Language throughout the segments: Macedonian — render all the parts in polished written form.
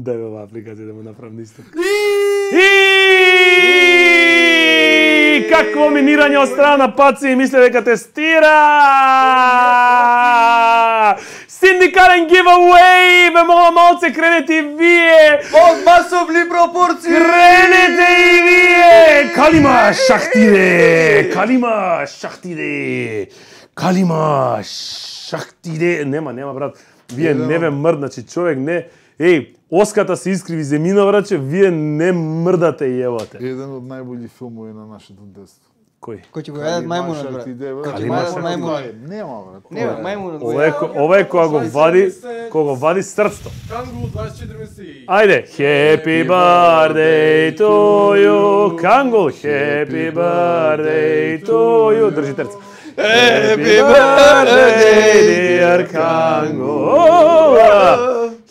Дај ова апликација да му направам исто. Какво минирање од страна на Паци и мисле дека тестира! Синдикален giveaway! Бе мола малце, кренете и вие! Од масовни пропорции! Кренете и вие! Калима шахтиде! Калима шахтиде! Калима шахтиде! Нема брат. Вие не ве мрдначи, човек не... Еј, оската се искриви земина, враче, вие не мрдате и евате. Еден од најбољи филмови на нашето детство. Кој? Кој ќе го јадат мајмунот, брат? Кој ќе јадат мајмунот? Нема, брат. Нема, мајмунот го јадат. Ова е кога го вади срцето. Кангул 24 месеци. Ајде, happy birthday to you, Кангул, happy birthday to you. Држи терца. Happy birthday, dear Kangul.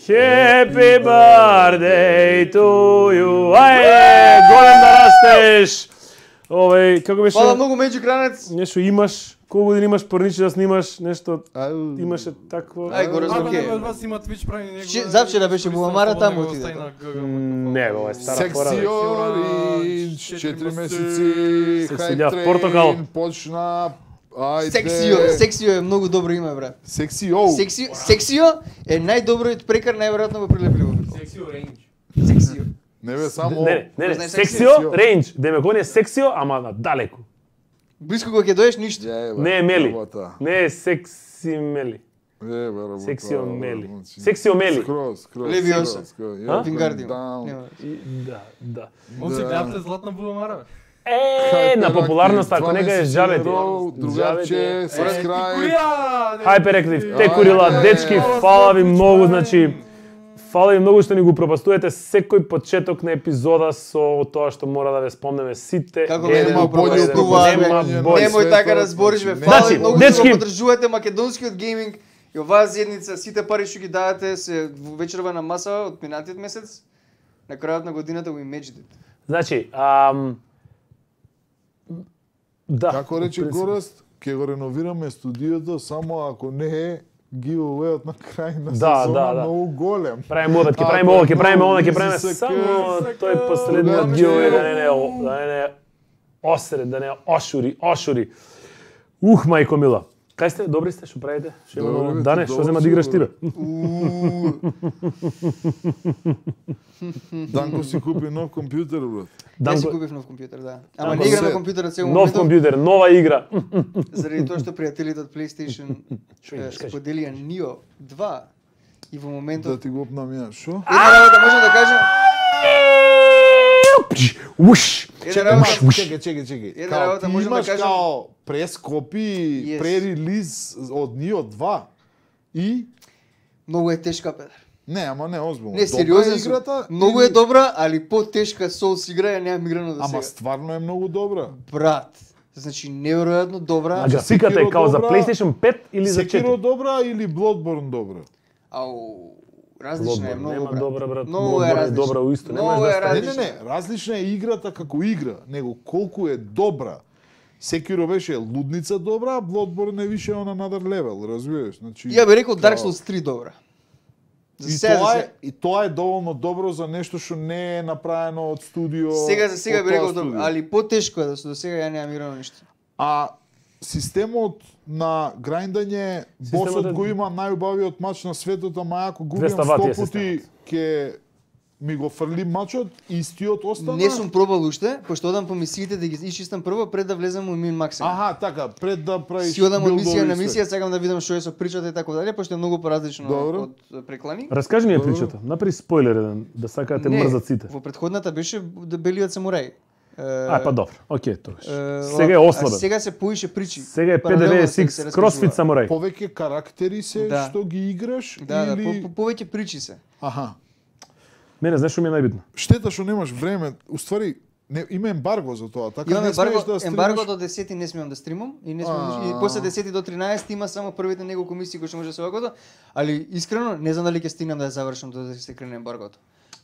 Happy birthday to you. Ајде, голем да растеш. Овој, како беше? Фала многу Меѓи Кранец. Нешто имаш, колку години имаш порниче да снимаш, нешто имаше такво. Ај го разбаке. Од вас има Twitch прави него. Завчера беше Буламара таму отиде. Не, ова е стара пора. Секси Оринж, 4 месеци, Секси Портокал. Почна. Ајде. Сексио е многу добро име, брат. Сексио. Сексио е најдобриот прекар, најверојатно го прилепливо. Сексио Range. Сексио. Не бе само. Не, сексио, рейндж, демек он е сексио, ама на далеку. Блиско кога ќе доеш ништо. Не е мели. Не е секси мели. Сексио мели. Сексио мели. Левиоса. Вингардиум. Да. Он се гледате Златна Буламара. На популарност, ако нега е жабе ти. Другарче, subscribe. Hyperactive, те курила, дечки, фала ви многу, значи, фала ви многу што ни го пропастувате секој почеток на епизода со тоа што мора да ве спомнеме сите. Како нема болje немој така да збориш, бе. Фала ви многу што го поддржувате македонскиот гейминг и оваа заедница, сите пари што ги давате се вечерва на маса од минатиот месец. На крајот на годината we matched it. Значи, да. Како рече Гораст, ќе го реновираме студиото само ако не е giveaway-от на крај на сезона многу голем. Правиме ова, ќе правиме ова, ќе правиме она, ќе правиме само тој последниот giveaway да не е осред, да не е ошури. Мајко мила. Кај сте? Добри сте? Што правите? Што има Дане? Што зема да играш ти, бе? Данко си купи нов компјутер, брат. Јас си купив нов компјутер, да. Ама не игра на компјутерот цело моментов. Нов компјутер, нова игра. Заради тоа што пријателите од PlayStation споделија Nioh 2 и во моментот да ти го опнам ја. Шо? Една работа можам да кажам. Чекај. Една работа можам да кажам. Као прескопи, пререлиз од Nioh 2 и многу е тешка, Петар. Не, ама не озбилно. Не, сериозно играта. Многу е добра, али потешка Souls игра ја немам играно до сега. Ама стварно е многу добра. Брат, значи неверојатно добра. А графиката е као за PlayStation 5 или за 4? Sekiro добра или Bloodborne добра? Ау, различна е многу, нема брат. добра, брат. Многу е различна. Добра уисто, немаш да ставиш. Не, различна е играта како игра, него колку е добра. Sekiro беше лудница добра, а Bloodborne е више on another level, разбираш? Значи ја би рекол Dark Souls 3 добра. И тоа е доволно добро за нешто што не е направено од студио. Сега би рекол добро, али потешко е да се до сега ја немам играно ништо. А системот на грајндање, босот го има најубавиот мач на светот, ама ако го убиам 100 пати ќе ми го фрли мачот, истиот остана. Не сум пробал уште, пошто одам по мисиите да ги исчистам прво пред да влезам во мин максимум. Аха, така, пред да правиш. Си одам од мисија на мисија, сакам да видам што е со причата и така дале, пошто е многу поразлично од преклани. Раскажи ми ја причата. Направи спойлер еден, да сакате мрзат сите. Во претходната беше Белиот самурај. Па добро, окей, тогаш. Сега е ослабен. Сега се поише причи. Сега е PDVSX CrossFit Samurai. Повеќе карактери се што ги играш или повеќе причи се. Аха. Мене знаеш што ми е најбитно? Штета што немаш време. Уствари има ембарго за тоа, така не смееш да стримаш. Ембарго до 10 не смеам да стримам и не смеам и после 10 до 13 има само првите неколку мисии кои што може да се вакото, али искрено не знам дали ќе стигнам да ја завршам до да се крене ембаргото.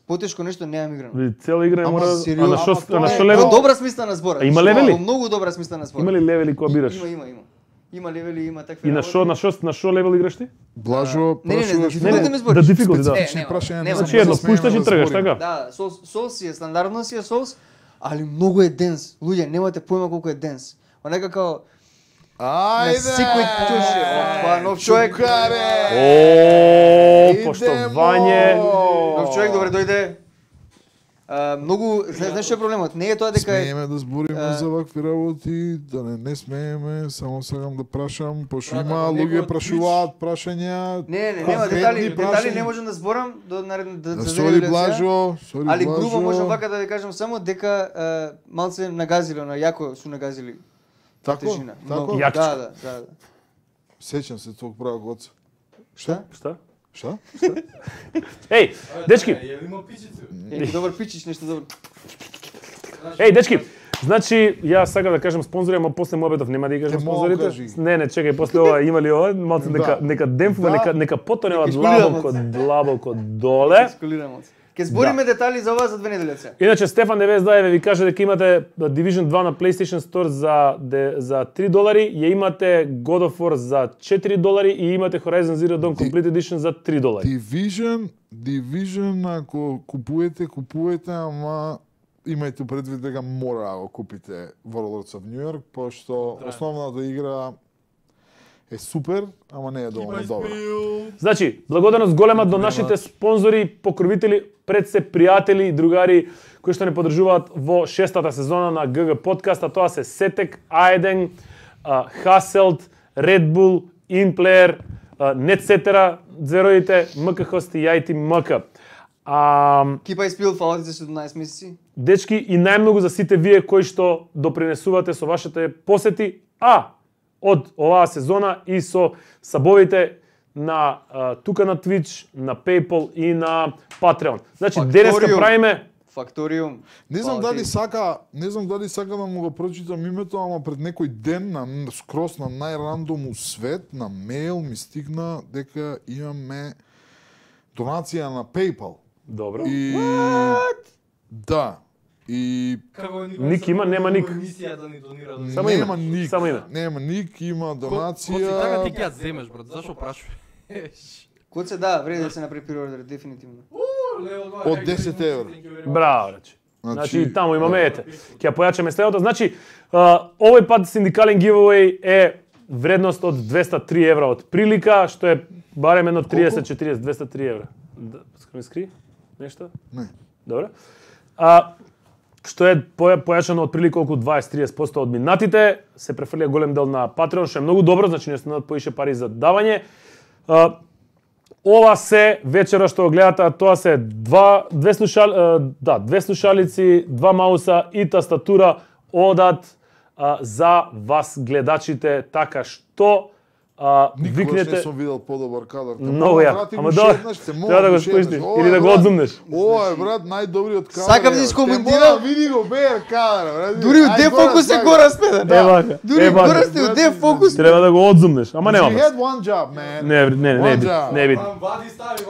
Потешко нешто немам играно. Цела игра мора на што левел? Добра смисла на збора. Има левели? Многу добра смисла на збора. Има ли левели кога бираш? Има. Има левели, има такви. И на што левел играш ти? Блажо, да дификулти, да. Значи едно пушташ и тргаш, така? Да, Souls си е стандардно си е Souls, али многу е денс. Луѓе, немате појма колку е денс. Онака као ајде! Секој туше, опа, нов човек. Поштовање. Нов човек, добре дојде. Многу, знаеш што е проблемот? Не е тоа дека смееме да збориме за вакви работи, да не смееме, само сакам да прашам, пошто има луѓе прашуваат прашања. Нема детали не можам да зборам до наредно да Сори Блажо, али грубо можам вака да ви кажам само дека малце нагазиле, на јако су нагазили. Тако? Да. Сеќам се тог правок оца. Šta? Еј, дечки. Добар пичич, нешто добро. Еј, дечки. Значи, ја сакам да кажам спонзори, ама после мобетов нема да ги кажам спонзорите. Не, чекај, после ова има ли ова? Малце нека демфува, нека потонева длабоко доле. Ке збориме детали за ова за 2 недели сега. Иначе Стефан 99 ви каже дека имате Division 2 на PlayStation Store за $3, ја имате God of War за $4 и имате Horizon Zero Dawn Complete Edition за $3. Division ако купувате, ама имајте предвид дека мора да го купите Warlords of New York, пошто основната игра е супер, ама не е доволно добра. Значи, благодарност голема до нашите спонзори, покровители, пред се пријатели и другари кои што не поддржуваат во 6-та сезона на GG Podcast, а тоа се Сетек, Аеден, Хаселт, Red Bull, Inplayer, Netcetera, звероите, МК Хост и IT МК. Кипа испил, фала ти за 17 месеци. Дечки, и најмногу за сите вие кои што допринесувате со вашите посети, од оваа сезона и со сабовите на тука на Twitch, на PayPal и на Patreon. Значи денеска правиме Факториум. Не знам дали сака да му го прочитам името, ама пред некој ден на скрос на најрандом свет на мејл ми стигна дека имаме донација на PayPal. Добро. И да. И ник има, нема ник. Само име. Нема ник, има донација. Коци така ти ќе ја земеш, брат. Зашо прашуваш? Коце да, вреди да се направи приордер, дефинитивно. Од 10 евро. Браво, значи таму имаме ете. Ќе ја појачаме следното. Значи, овој пат синдикален giveaway е вредност од 203 евра од прилика, што е барем едно 30-40, 203 евра. Скри скри? Нешто? Не. Добро. Што е појачано од прилика околу 20-30% од минатите, се префрлија голем дел на Patreon, што е многу добро, значи не станат поише пари за давање. Ова се вечера што го гледате, тоа се две слушалици, 2 мауса и тастатура одат за вас гледачите, така што викнете. Не сум видел подобар кадар. Много ја. Ама да, треба да го спуштиш или да го одзумнеш. Ова е брат најдобриот кадар. Сакам да искоментирам. Види го бер кадар, брат. Дури у дефокус е гора спеда. Да. Дури гора сте у дефокус. Треба да го одзумнеш, ама нема. You had one job, man. Не биди. Вади стави.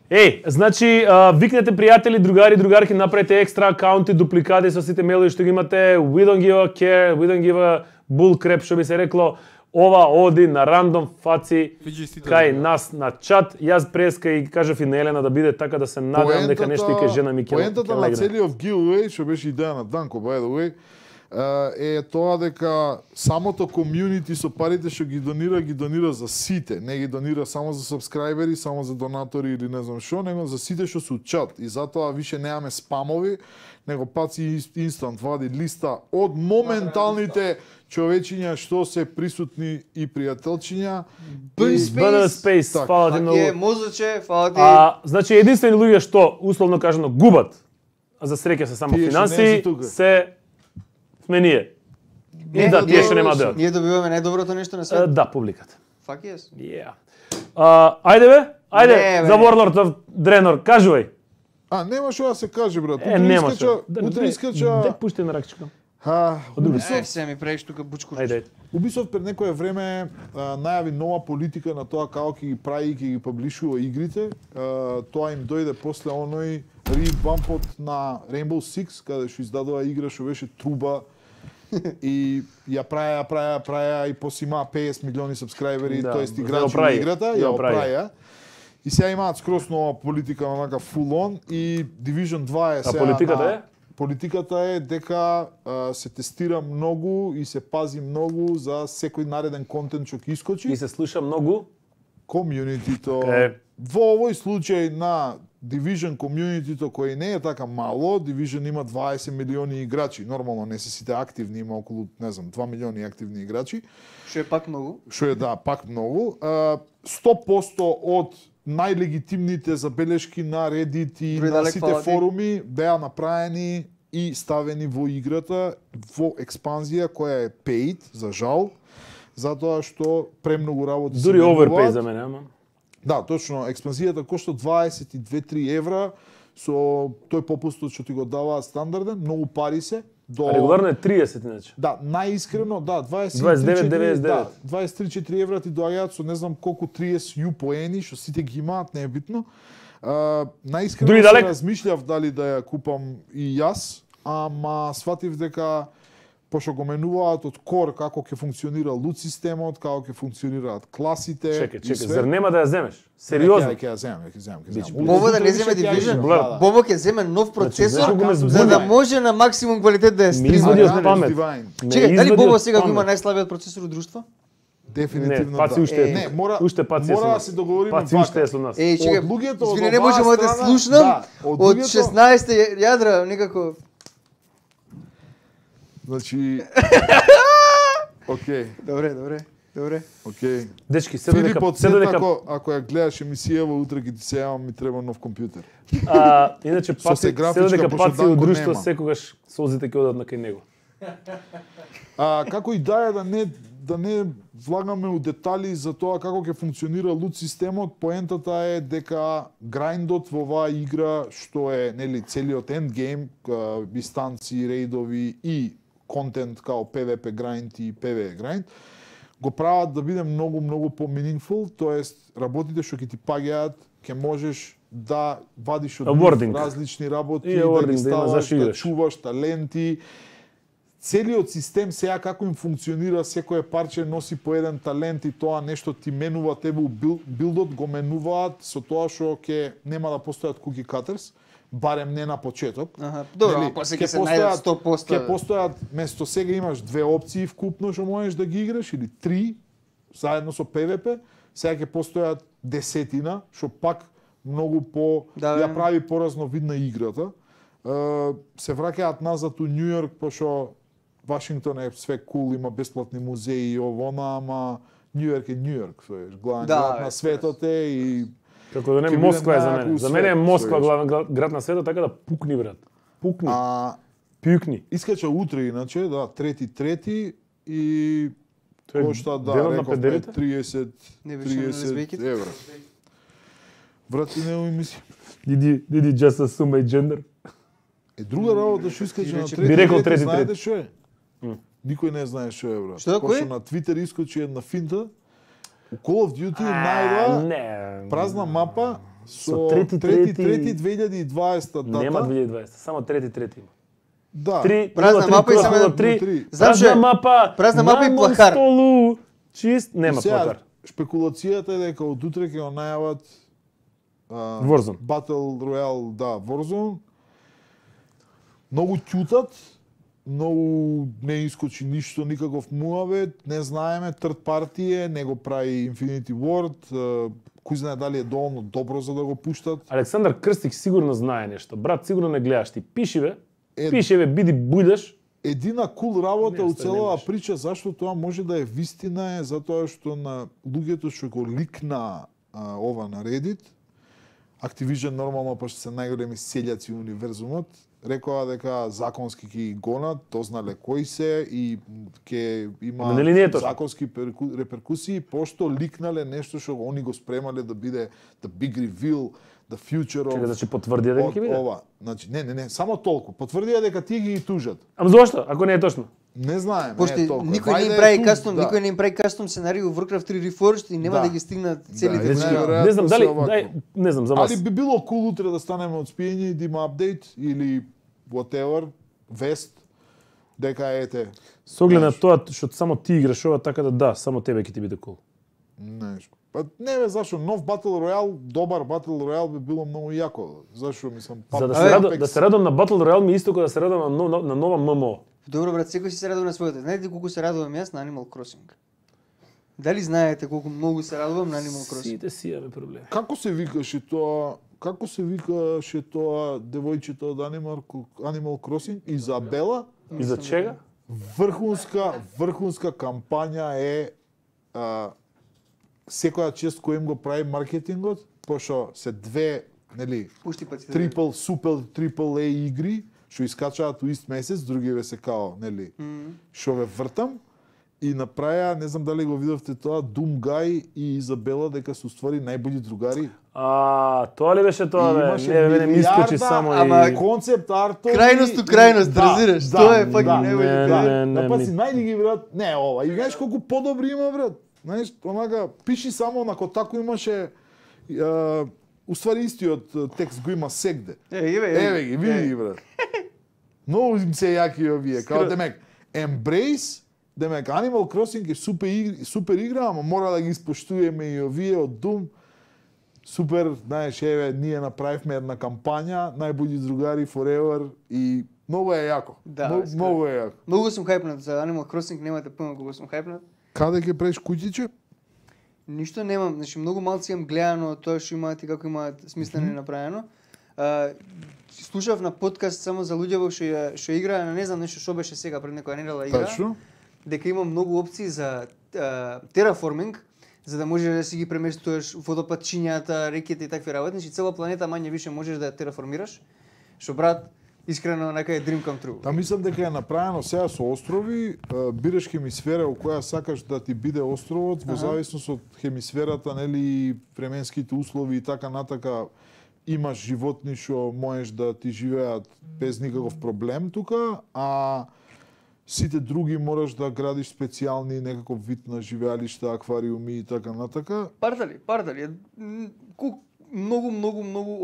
Еј, значи, викнете пријатели, другари, другарки, направете екстра акаунти, дупликати со сите мејлови што ги имате. We don't give a care, we don't give a bull crap, што би се рекло. Ова оди на рандом фаци кај нас на чат. Јас преска и кажав и на Елена да биде така да се надевам дека нешто и кај жена ми ќе легне. Поентата на целиот giveaway, што беше идеја на Данко, by the way, е тоа дека самото комјунити со парите што ги донира за сите, не ги донира само за сабскрајбери, само за донатори или не знам што, него за сите што се чат. И затоа више немаме спамови, него паци инстант вади листа од моменталните човечиња што се присутни и пријателчиња. Space, фала ти многу. Мозоче, фала ти. Значи единствени луѓе што условно кажано губат а за среќа се само Тие што не финанси, си тука. се сме ние. И да, тие што нема да. Ние добиваме најдоброто нешто на светот. Да, публиката. Fuck yes. Yeah. Ајде бе, ајде, Не, бе. за Warlord of Draenor, кажувај. Нема што да се каже, брат. Нема Утре искача... Де пушти на ракчика. Ubisoft, Се ми правиш тука бучко. Ајде. Ubisoft пред некое време најави нова политика на тоа како ќе ги прави и ќе ги паблишува игрите. Тоа им дојде после оној ревампот на Rainbow Six, каде што издадува игра што беше труба и ја праја и после има 50 милиони сабскрајбери, Да, тоест ја играчи на оправи, играта, ја ја оправи. оправија. И сега имаат скроз нова политика онака full on и Division 2 е сега политиката на... е? Политиката е дека се тестира многу и се пази многу за секој нареден контент што ќе искочи. И се слуша многу. Комјунитито. Е. Во овој случај на Division комјунитито кој не е така мало, Division има 20 милиони играчи. Нормално не се сите активни, има околу, не знам, 2 милиони активни играчи. Што е пак многу. Што е да, пак многу. 100% од најлегитимните забелешки на Reddit и Други на далек сите фала ти. форуми беа направени и ставени во играта во експанзија која е paid, за жал, затоа што премногу работи се Дури менуваат. overpay за мене, ама. Да, точно, експанзијата кошта 22-3 евра, со тој попустот што ти го даваат стандарден, многу пари се. А регуларно е 30 иначе. Да, најискрено, да, 29,99. Да, 23-4 евра ти доаѓаат со не знам колку 30 U поени, што сите ги имаат, не е битно. Најискрено Дури се далек? размишлјав дали да ја купам и јас, ама сватив дека пошто го менуваат од кор како ќе функционира лут системот, како ќе функционираат класите. Чекај, зар нема да ја земеш? Сериозно? Ќе ја земам. Бобо да не земе Division? Да. Бобо ќе земе нов процесор знаеш колку ме за збуни? да може на максимум квалитет да ја Ми извади стрима. од памет. Чекај, дали извади Бобо од сега го има памет. најслабиот процесор од друштво? Дефинитивно Не, паци да. уште е. Не, мора Уште мора да се договориме Паци вака. уште е со нас. Чекај, Од луѓето од извини, не оваа можеме да страна, слушнам да, од од луѓето- 16 јадра некако. Значи Океј, Добре. океј. Дечки, се Филип додека од се додека ако ја гледаш емисијава, утре ќе ти се јавам, ми треба нов компјутер. иначе Со паци, се се графичка, додека пошто паци од Данко друштво нема. секогаш солзите ќе одат на кај него. Како и да е да не влагаме у детали за тоа како ќе функционира лут системот, поентата е дека грайндот во оваа игра, што е нели целиот ендгейм, дистанци, рейдови и контент као PvP грайнд и PvE грайнд, го прават да биде многу по-meaningful, тоест работите што ќе ти паѓаат, ќе можеш да вадиш од Awarding. нив различни работи, И да awarding, ги да има ставаш, зашто да играш. чуваш таленти. Целиот систем сега како им функционира, секое парче носи по еден талент и тоа нешто ти менува тебе у билдот, го менуваат со тоа што ќе нема да постојат cookie cutters, барем не на почеток. Добро, Нели, после ќе се најдат 100%. Ќе постојат, место сега имаш 2 опции вкупно што можеш да ги играш, или 3, заедно со PvP, сега ќе постојат 10, што пак многу по ја прави поразновидна играта. Се враќаат назад у Њу Јорк, пошто Вашингтон е све кул, има бесплатни музеи и овона, ама Њу Јорк е Њу Јорк, соеш, главен град на светот е и Како да не ќе Москва е биде за мене. најаку За мене е свет, Москва соеш. главен град на светот, така да пукни брат. Пукни. Пукни. Искача утре иначе, да, 3.3 и Тоа е кошта да денот на рековме педерите? 30 евра. Врати не ми мисли. Did you just assume my gender? Друга работа што искача на Би рекол 3.3, трети, знаете трети. што е? Никој не знае што е, брат. Што е, кој? Пошто на Твитер искочи една финта, у Call of Duty најва Не. празна мапа со Со трети, 3.3.2020 дата. Нема 2020, само трети има. Да. 3, Празна мапа и само едно 3. Знам што е? Празна мапа и на плахар. столу. Чист, нема И сега, плахар. Шпекулацијата е дека од утре ќе го најават Warzone. Battle Royale, да, Warzone. Многу ќутат, многу не искочи ништо, никаков муавет, не знаеме, third party е, не го прави Infinity Ward, кој знае дали е доволно добро за да го пуштат. Александар Крстик сигурно знае нешто. Брат, сигурно не гледаш ти. Пиши бе. Пиши бе, биди бујдеш. Едина кул работа Не, у оста целава немаш. прича, зашто тоа може да е вистина е затоа што на луѓето што го ликна ова на Reddit, Activision нормално, пошто се најголеми селјаци у универзумот, рекоа дека законски ќе гонат, дознале кои се и ќе има законски реперкусии, пошто ликнале нешто што они го спремале да биде the big reveal, the future of... Чека, значи потврдија дека ќе биде? Ова, значи, не, само толку. Потврдија дека тие ги тужат. Ама зошто, ако не е точно? Не знаем, пошто никој не им прави кастом, никој не им прави кастом сценарии во Warcraft 3 Reforged и нема да ги стигнат целите години. Не знам дали, не знам за вас. Али би било кул утре да станеме од спиење и да има апдейт или whatever, вест, дека ете. Со оглед на тоа што само ти играш ова, така да, само тебе ќе ти биде кул. Нешто. Па не бе, зашо нов Battle Royale, добар Battle Royale би било многу јако. Зашо мислам, за да се радам на Battle Royale ми исто како да се радам на нова ММО. Добро брат, секој се радува на своето. Знаете колку се радувам јас на Animal Crossing? Дали знаете колку многу се радувам на Animal Crossing? Сите си имаме проблем. Како се викаше тоа? Како се викаше тоа девојчето од Animal Crossing? Изабела? И за чега? Врхунска кампања е секоја чест кој им го прави маркетингот, пошто се две, нели, трипл A игри што искачаат у ист месец, другиве се као, нели, што ве вртам, и направија, не знам дали го видовте тоа, Думгај и Изабела дека се уствари најбољи другари. Тоа ли беше тоа, бе? Не ми искочи само и... Ама концепт артови... Крајност, разбираш? Тоа е пак и најбољи другари. Да, па си најди ги, брат. Не, ова, и знаеш колку подобри има, брат. Знаеш, онака, пиши само на Котаку имаше... Уствари истиот текст го има сегде. Еве ги, види ги, брат. Многу им се јаки овие. Као демек, Embrace, демек, Animal Crossing е супер игра, ама мора да ги испоштуеме и овие од Doom. Супер, знаеш, еве, ние направивме една кампања, најбољи другари forever и многу е јако. Да, многу е јако. Многу сум хајпнат за Animal Crossing, немате појма колку сум хајпнат. Каде ќе правиш куќиче? Ништо немам, значи многу малци имам гледано тоа што имаат и како имаат смислено и направено. Слушав на подкаст само за луѓе што играа, не знам нешто што беше сега пред некоја недела игра. Точно. Дека има многу опции за тераформинг, за да можеш да си ги преместуваш водопадчињата, реките и такви работи, значи цела планета мање више можеш да ја тераформираш. Што брат, искрено нека е dream come true. Та мислам дека е направено сега со острови, бираш хемисфера у која сакаш да ти биде островот, во зависност од хемисферата, нели, временските услови и така натака, имаш животни што можеш да ти живеат без никаков проблем тука, а сите други мораш да градиш специјални некаков вид на живеалишта, аквариуми и така натака. Партали. Многу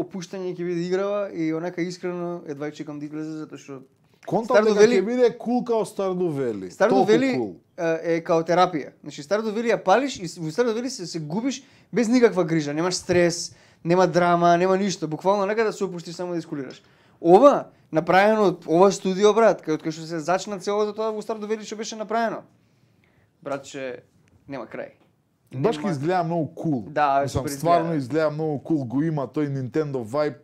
опуштање ќе биде играва и онака искрено едва чекам да излезе затоа што контакт дека ќе биде кул као Stardew Valley. Stardew Valley е као терапија. Значи Stardew Valley ја палиш и во Stardew Valley се губиш без никаква грижа, немаш стрес, нема драма, нема ништо, буквално нека да се опуштиш само да искулираш. Ова направено од ова студио, брат, кај што се зачна целото тоа во Stardew Valley што беше направено. Братче, нема крај. Баш ки изгледа многу кул. Да, мислам, стварно изгледа многу кул, го има тој Nintendo vibe,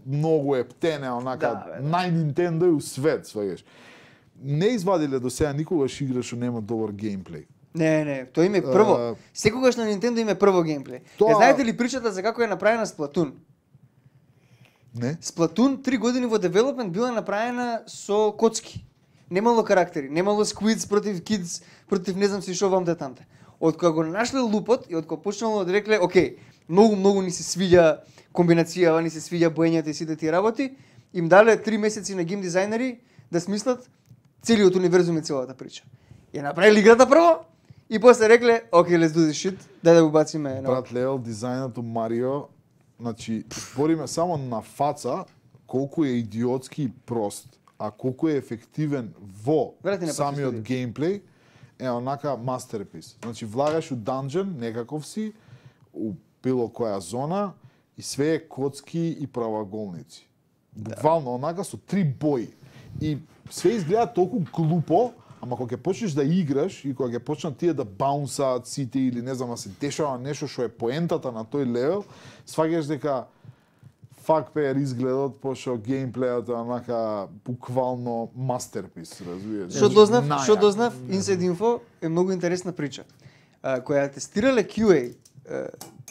многу е птене, онака, нај-Nintendo и у свет, сваѓаш. Не извадиле до сега никогаш игра што нема добар геймплей. Не, тоа им е прво. Секогаш на Nintendo им е прво геймплей. Знаете ли причата за како е направена Splatoon? Не. Splatoon 3 години во development била направена со коцки. Немало карактери, немало squids против kids, против не знам си што вам тамте. Од кога го нашле лупот и од кога почнало да рекле, окей, многу ни се свиѓа комбинацијава, ни се свиѓа боењата и сите тие работи, им дале 3 месеци на гейм дизајнери да смислат целиот универзум и целата прича. Ја направиле играта прво и после рекле, окей, let's do this shit, дај да го бациме. Брат, левел дизајнот у Марио, значи, збориме само на фаца колку е идиотски и прост, а колку е ефективен во самиот геймплей, е онака мастерпис. Значи, влагаш у данџен, некаков си, у било која зона, и све е коцки и правоаголници. Буквално, онака со 3 бои. И све изгледа толку глупо, ама кога ќе почнеш да играш и кога ќе почнат тие да баунсаат сите или не знам, да се дешава нешто што е поентата на тој левел, сваѓаш дека фак пеер изгледот, пошто геймплејот е онака буквално мастерпис, разбираш. Што дознав, Inside Info е многу интересна прича. Која тестирале QA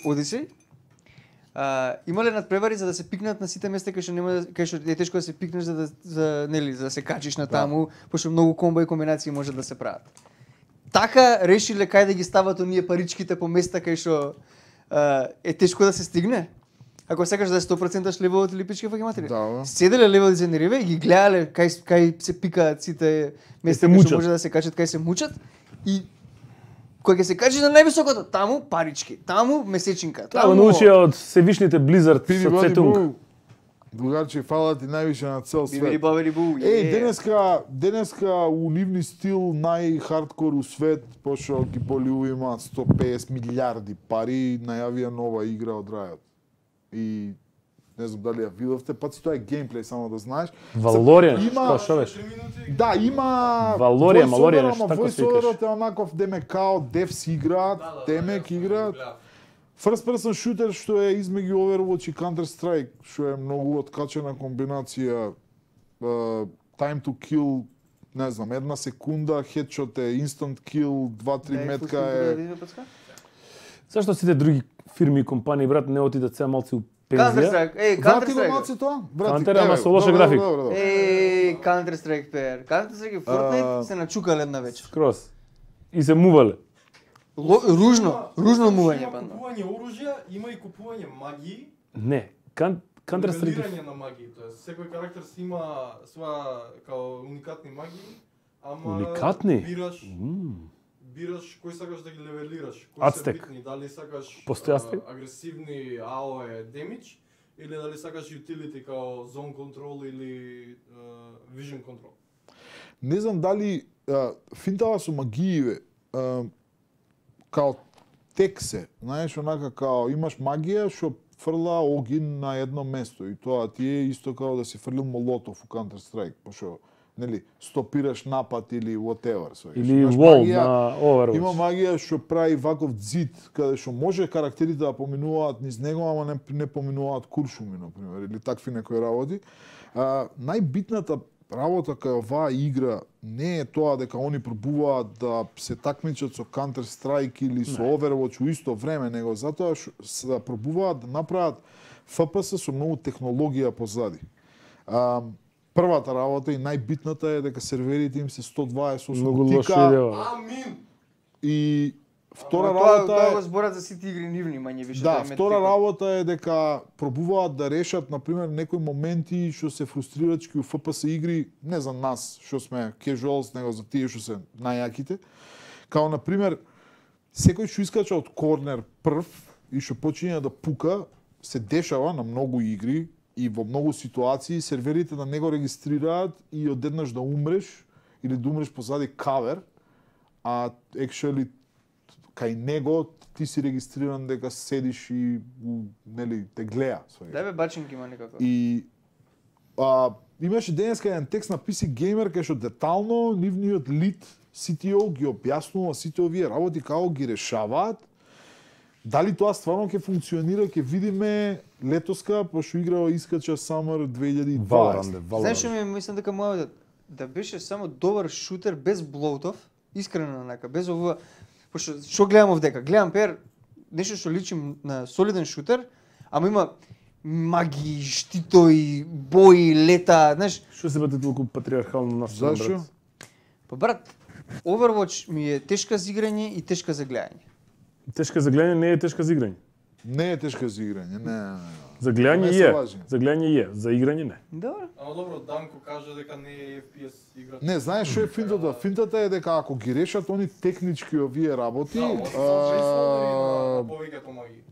Odyssey, Има ли надпревари за да се пикнат на сите места кај што е тешко да се пикнеш за да се качиш на таму, пошто многу комбо и комбинации може да се прават. Така решиле кај да ги стават оние паричките по места кај што е тешко да се стигне? Ако сакаш да е 100% левелот или пички фаќи матери. Да. Седеле левел дизајнери и ги гледале кај се пикаат сите места кај што може да се качат, кај се мучат и кој ќе се качи на највисокото, таму парички, таму месечинка. Таму научија од Севишните Blizzard со Цетунг. Другарче, фала ти највише на цел свет. Бибери бабери бу. Денеска у нивни стил најхардкор у свет, пошто ги Боливу имаат 150 милиарди пари, најавија нова игра од Riot. И не знам дали ја видовте, паци тоа е геймплей, само да знаеш. Валоријан, што беше? Да, има Валоријан, нешто така се викаш. Voiceover-от е онаков деме као Devs играат, темек играат. First person shooter што е измеѓу Overwatch и Counter-Strike, што е многу откачена комбинација, time to kill, не знам, 1 секунда, headshot е instant kill, 2-3 метка е... Зашто сите други фирми и компании, брат, не отидат сега малци у пензија? Counter-Strike, Counter-Strike тоа? Counter, ама со лоша графика. Counter-Strike пеер. Counter-Strike и Fortnite се начукале една вечер. Скроз. И се мувале. Ружно мување, Има банда. купување оружја, има и купување магии. Не, Counter-Strike... Нивелирање на магии, тоест секој карактер си има своја као уникатни магии, ама Уникатни? бираш кој сакаш да ги левелираш, кои Ацтек. се битни, дали сакаш Постои Ацтек? агресивни AOE damage или дали сакаш utility као zone control или vision control. Не знам дали финтава со магииве, као тексе, знаеш, онака као имаш магија што фрла огин на едно место и тоа ти е исто као да си фрлил молотов у Counter-Strike, пошто нели стопираш напад или whatever. Или wall на Overwatch. Има магија што прави ваков зид, каде што може карактерите да поминуваат низ него, ама не поминуваат куршуми, например, или такви некои работи. Најбитната работа кај оваа игра не е тоа дека они пробуваат да се такмичат со Counter-Strike или со Overwatch у исто време, него затоа што пробуваат да направат FPS со многу технологија позади. Првата работа и најбитната е дека серверите им се 128 Многу лоша тика идеја. Амин! и втора работа Тоа го е зборат за сите игри нивни, мање више. да, втора работа е дека пробуваат да решат на пример некои моменти што се фрустрирачки у FPS игри, не за нас што сме casuals, него за тие што се најаките. Као на пример секој што искача од корнер прв и што почиња да пука, се дешава на многу игри и во многу ситуации серверите да не го регистрираат и одеднаш да умреш или да умреш позади кавер, а actually кај него ти си регистриран дека седиш и нели те гледа. Да бе, бачинки има некако. И имаше денеска еден текст на PC Gamer кај што детално нивниот лид CTO ги објаснува сите овие работи како ги решаваат. Дали тоа стварно ќе функционира, ќе видиме летоска, пошто играва искача Summer 2020. Знаеш што ми мислам дека може да беше само добар шутер без блоутов, искрено онака, без ова. Пошто што гледам овдека? Гледам пер нешто што личи на солиден шутер, ама има магии, штитови, бои, лета, знаеш. Што се бате толку патриархално настроен, Зашо? брат? Па брат, Overwatch ми е тешка за играње и тешка за гледање. Тешка за гледање не е тешка за играње. Не е тешка за играње, не. За гледање Не се е. лажи. За гледање е, за играње не. Добро. Ама добро, Данко кажа дека не е FPS игра. Не, знаеш што е финтата? Финтата е дека ако ги решат они технички овие работи, Да, на повеќето магии.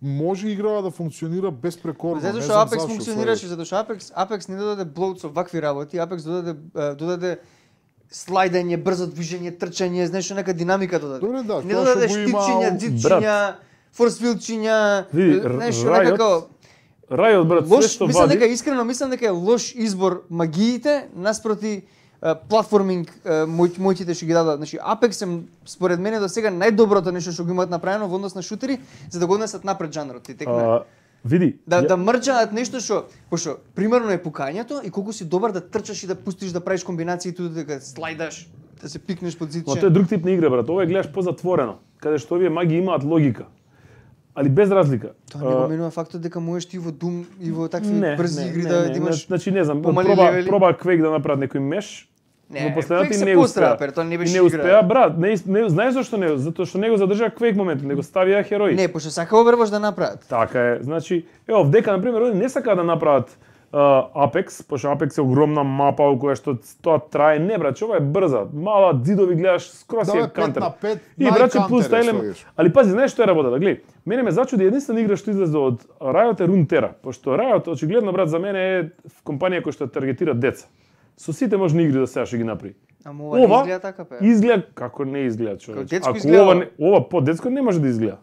може играва да функционира безпрекорно. Затоа не што знам Apex зашо, функционираше, затоа што Apex не додаде блоут со вакви работи, Apex додаде слайдање, брзо движење, трчање, знаеш нека динамика додаде. Добре, да, не тоа додаде што го има штипчиња, у- дзидчиња, форсфилчиња, Види, знаеш Riot, нека како Riot, брат, све лош, што мислам вади... дека искрено мислам дека е лош избор магиите наспроти платформинг моќите што ги дадат. Значи Apex е според мене до сега најдоброто нешто што го имаат направено во однос на шутери за да го однесат напред жанрот. Ти текна. Види, Да мрџаат нешто што, пошто примерно е пукањето и колку си добар да трчаш и да пустиш да правиш комбинации тука дека слайдаш, да се пикнеш под зидче. но тоа е друг тип на игра, брат. Ова е гледаш позатворено, каде што овие маги имаат логика. али без разлика. Тоа не го менува фактот дека можеш ти во Doom и во такви брзи игри да имаш. Значи не знам, проба Quake да направат некој меш. Не, Quake се пострапер, тоа не беше игра. Не успеа, брат, не знаеш зашто не? Затоа што него задржаа Quake момент, него ставија херои. Не, пошто сака Overwatch да направат. Така е, значи, ево, дека на пример не сака да направат Apex, пошто Apex е огромна мапа во која што тоа трае, не брат, ова е брза, мала дзидови гледаш, скроз е кантер. И брат, плюс тајлем, али пази, знаеш што е работата, гледај. Мене ме зачуди единствена игра што излезе од Riot е Runeterra, пошто Riot очигледно брат за мене е компанија која што таргетира деца. Со сите можни игри да сега што ги направи. Ама ова изгледа така пе. Изгледа како не изгледа човек. Ако ова по-детско не може да изгледа.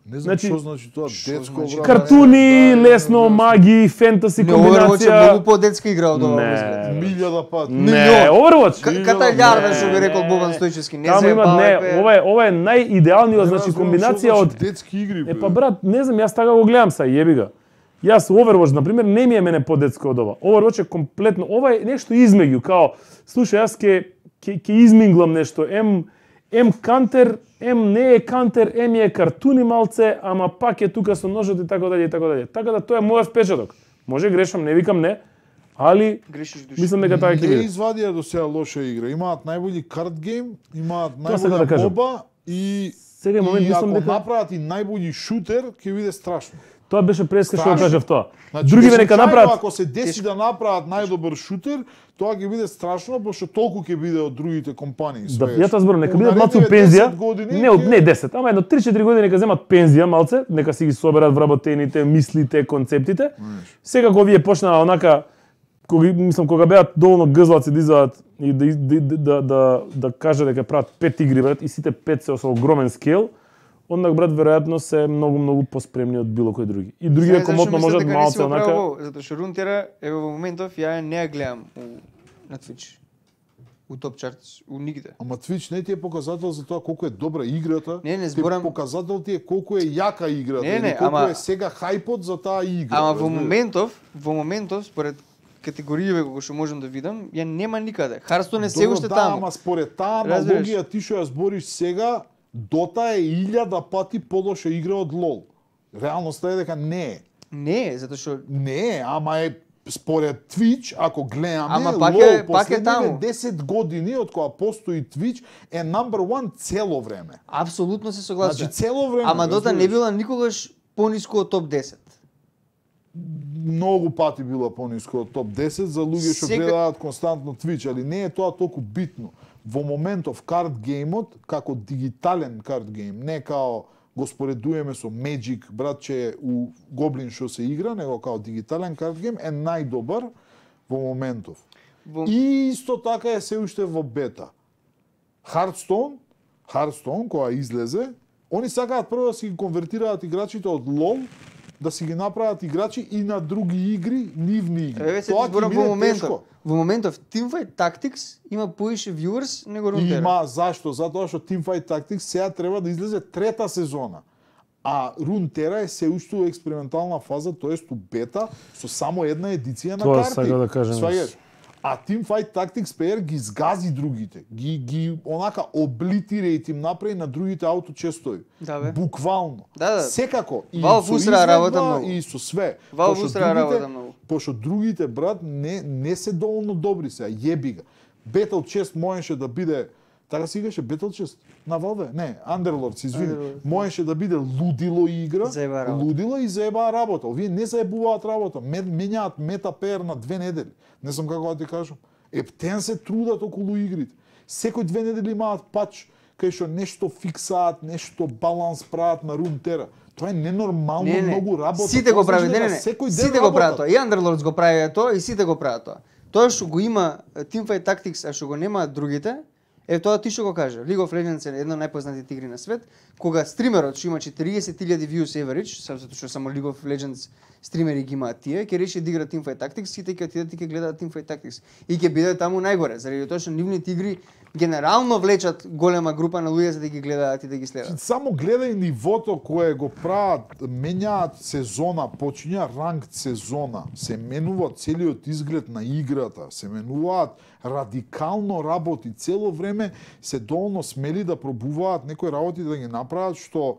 Не знам што значи тоа детско брат. Картуни, лесно, маги, фентаси комбинација. Overwatch е многу по-детска игра од ова изгледа. Милјада пат. Не, Overwatch. Каталјарда што би рекол Бобан Стојчевски, не се баве. Ова е најидеалниот, значи комбинација од детски игри. Па брат, не знам, јас така го гледам са, јеби га. Јас Overwatch, на пример, не ми е мене по-детско од ова. Overwatch е комплетно, ова е нешто измеѓу, као, слушај, јас ќе изминглам нешто, ем кантер, не е кантер, е картуни малце, ама пак е тука со ножот и така дале и така дале. Така да тоа е мојот впечаток. Може грешам, не викам не, али мислам дека така ќе биде. Не извадија до сега лоша игра. Имаат најбољи карт гейм, имаат најбоља моба и сега момент мислам дека направат и најбољи шутер, ќе биде страшно. Тоа беше преска што кажав тоа. Значи, другиве нека направат. Ако се деси да направат најдобар шутер, тоа ќе биде страшно, пошто толку ќе биде од другите компании. Да, ја тоа зборам, нека бидат малку пензија. Не 10, ама едно 3-4 години нека земат пензија малце, нека си ги соберат вработените мислите, концептите. Сега кога вие почнаа онака кога беат доволно гзлаци да изадат и да кажат дека прават 5 игри брат и сите 5 се со огромен скел, онак брат веројатно се многу спремни од било кој други. И другите комотно можат малце онака. Затоа што Runeterra еве во моментов ја не ја гледам на Twitch. У топ чартс, у нигде. Ама Twitch не ти е показател за тоа колку е добра играта. Не зборам. Показател ти е колку е јака играта, или колку е сега хајпот за таа игра. Ама во моментов според категориите кои што можам да видам, ја нема никаде. Hearthstone е се уште таму. Ама според таа аналогија ти што ја збориш сега, Dota е 1000 пати полоша игра од LoL. Реалноста е дека не е. Не е, затоа што не е, ама е според Twitch, ако гледаме, ама LoL пак е таму. 10 години од кога постои Twitch е number one цело време. Апсолутно се согласувам. Значи цело време. Ама Dota не била никогаш пониско од топ 10. Многу пати била пониско од топ 10 за луѓе што гледаат константно Twitch, али не е тоа толку битно. Во моментов карт геймот, како дигитален карт гейм, не као го споредуваме со Magic, братче, у Goblin што се игра, него као дигитален карт гейм е најдобар во моментов. И исто така е се уште во бета. Hearthstone, која излезе, они сакаат прво да си ги конвертираат играчите од LoL, да си ги направат играчи и на други игри, нивни игри. Тоа ќе биде тешко. Во моментов Teamfight Tactics има поише viewers него Runeterra. Има, зашто? Затоа што Teamfight Tactics сега треба да излезе трета сезона. А Runeterra е се уште у експериментална фаза, тоест у бета, со само една едиција на карти. Тоа сакам да кажам. А Teamfight Tactics PR ги згази другите. Ги онака облитира им направи на другите ауточестови. Да, бе. Буквално. Да. Секако. И Valve устра работа многу. И со све. Valve устра работа многу. Пошто другите, брат, не се доволно добри сега. Јеби га. Battle Chest можеше да биде, така се играше Battle Chest на Valve? Не, Underlords, извини. Можеше да биде лудило игра. Лудило и заебаа работа. Овие не заебуваат работа. Менјаат мета PR на 2 недели. Не знам како да ти кажам. Ептен се трудат околу игрите. Секој 2 недели имаат пач, кај што нешто фиксаат, нешто баланс прават на Runeterra. Тоа е ненормално многу работа. Сите го прават, сите го прават тоа. И Underlords го прави тоа и сите го прават тоа. Тоа што го има Teamfight Tactics, а што го нема другите, е тоа ти што го кажа. League of Legends е една од најпознатите игри на свет, кога стримерот што има 40.000 views average, затоа што само League of Legends стримери ги имаат тие, ќе реши да игра Teamfight Tactics, сите ќе отидат и ќе гледаат Teamfight Tactics и ќе биде таму најгоре, заради тоа што нивните игри генерално влечат голема група на луѓе за да ги гледаат и да ги следат. Само гледај нивото кое го прават, менјаат сезона, почиња ранкд сезона, се менува целиот изглед на играта, се менуваат радикално работи, цело време се доволно смели да пробуваат некои работи да ги направат што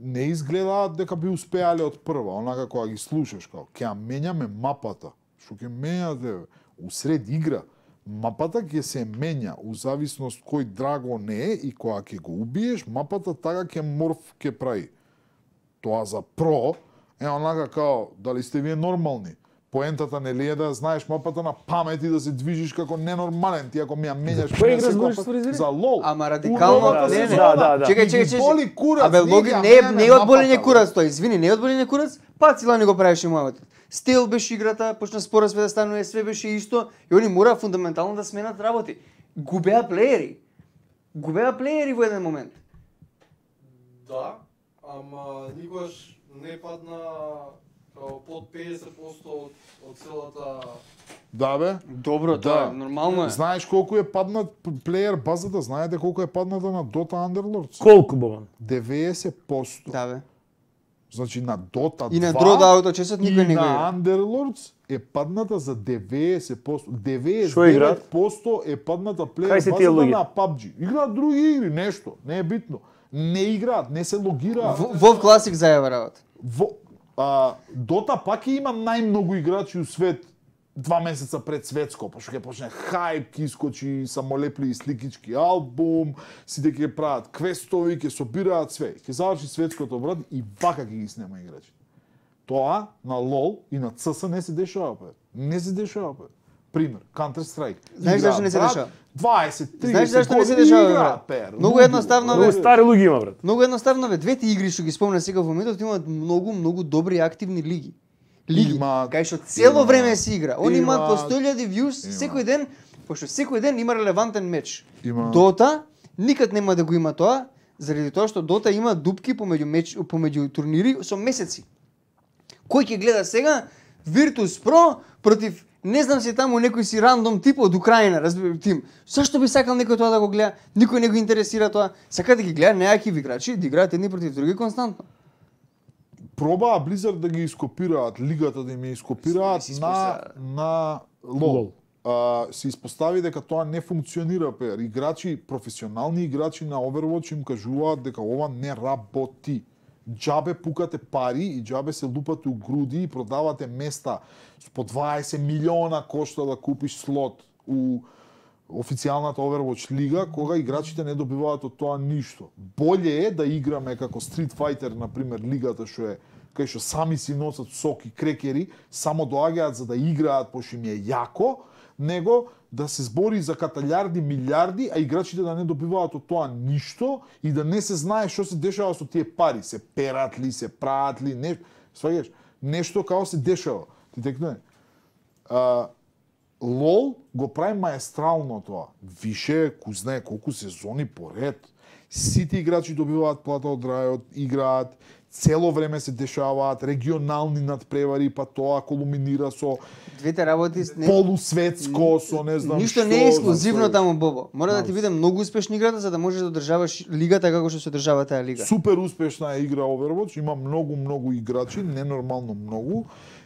не изгледаат дека би успеале од прва, онака кога ги слушаш, као, ќе ја менјаме мапата, што ќе менјате усред игра, мапата ќе се менја у зависност кој драгон е и кога ќе го убиеш, мапата така ќе морф ќе прави. Тоа за про е онака као, дали сте вие нормални? Поентата нели е да знаеш мапата на памет и да се движиш како ненормален, ти ако ми ја менјаш кој игра збориш фризери? За лол. Ама радикално не. Чекај. Боли курац. Абе логи не е од болење курац тоа, извини, не е од болење курац, па цила не го правеше муавет. Стил беше играта, почна спора све да станува, све беше исто и они мора фундаментално да сменат работи. Губеа плеери во еден момент. Да, ама никогаш не падна под 50% од целата. Да бе. Добро, тоа нормално е. Знаеш колку е паднат плеер базата, знаете колку е падната на Dota Underlords? Колку боман? 90%. Да бе. Значи на Dota 2 и на Dota Auto-чесот никој не го и игра. на Underlords е падната за 90%. 99% е падната плеер базата на PUBG. Играат други игри, нешто, не е битно. Не играат, не се логираат. WoW Classic зајава работа. Dota пак има најмногу играчи у свет 2 месеца пред светско, па што ќе почне хајп, ќе искочи самолепливи сликички албум, сите ќе прават квестови, ќе собираат све. Ќе заврши светското брат и вака ќе ги снема играчи. Тоа на LOL и на CS не се дешава, бе. Не се дешава, бе. Пример, Counter-Strike. Знаеш зашто не се дешава? 20-30 Знаеш зашто не се дешава, бе? Многу едноставно, бе. Стари луѓе има, брат. Многу едноставно, бе. Двете игри што ги спомна сега во моментот имаат многу добри активни лиги. Кај што цело време се игра. Они имаат по 100.000 views секој ден, пошто секој ден има релевантен меч. Дота никад нема да го има тоа, заради тоа што Дота има дупки помеѓу турнири со месеци. Кој ќе гледа сега Virtus Pro против не знам се таму некој си рандом тип од Украина, разбира тим. Зашто би сакал некој тоа да го гледа? Никој не го интересира тоа. Сака да ги гледа неаки играчи, да играат едни против други константно. Пробаа Blizzard да ги ископираат, лигата да им ја ископираат на LOL. Се испостави дека тоа не функционира, пер. Играчи, професионални играчи на Overwatch им кажуваат дека ова не работи. Џабе пукате пари и џабе се лупате у груди и продавате места по 20 милиона кошта да купиш слот у официјалната Overwatch лига, кога играчите не добиваат од тоа ништо. Боле е да играме како Street Fighter, например, лигата што е кај што сами си носат соки, крекери, само доаѓаат за да играат пошто им е јако, него да се збори за каталјарди, милиарди, а играчите да не добиваат од тоа ништо и да не се знае што се дешава со тие пари, се перат ли, се прават ли, сваѓаш, нешто као се дешава. Ти текне. LOL го прави маестрално тоа. Више, кој знае колку сезони поред. Сите играчи добиваат плата од Riot, играат, цело време се дешаваат регионални надпревари, па тоа колуминира со двете работи полусветско, со не знам ништо што. Не е ексклузивно таму, Бобо. Мора да ти биде многу успешна играта за да можеш да одржаваш лигата како што се одржава таа лига. Супер успешна е игра Overwatch, има многу играчи, ненормално многу.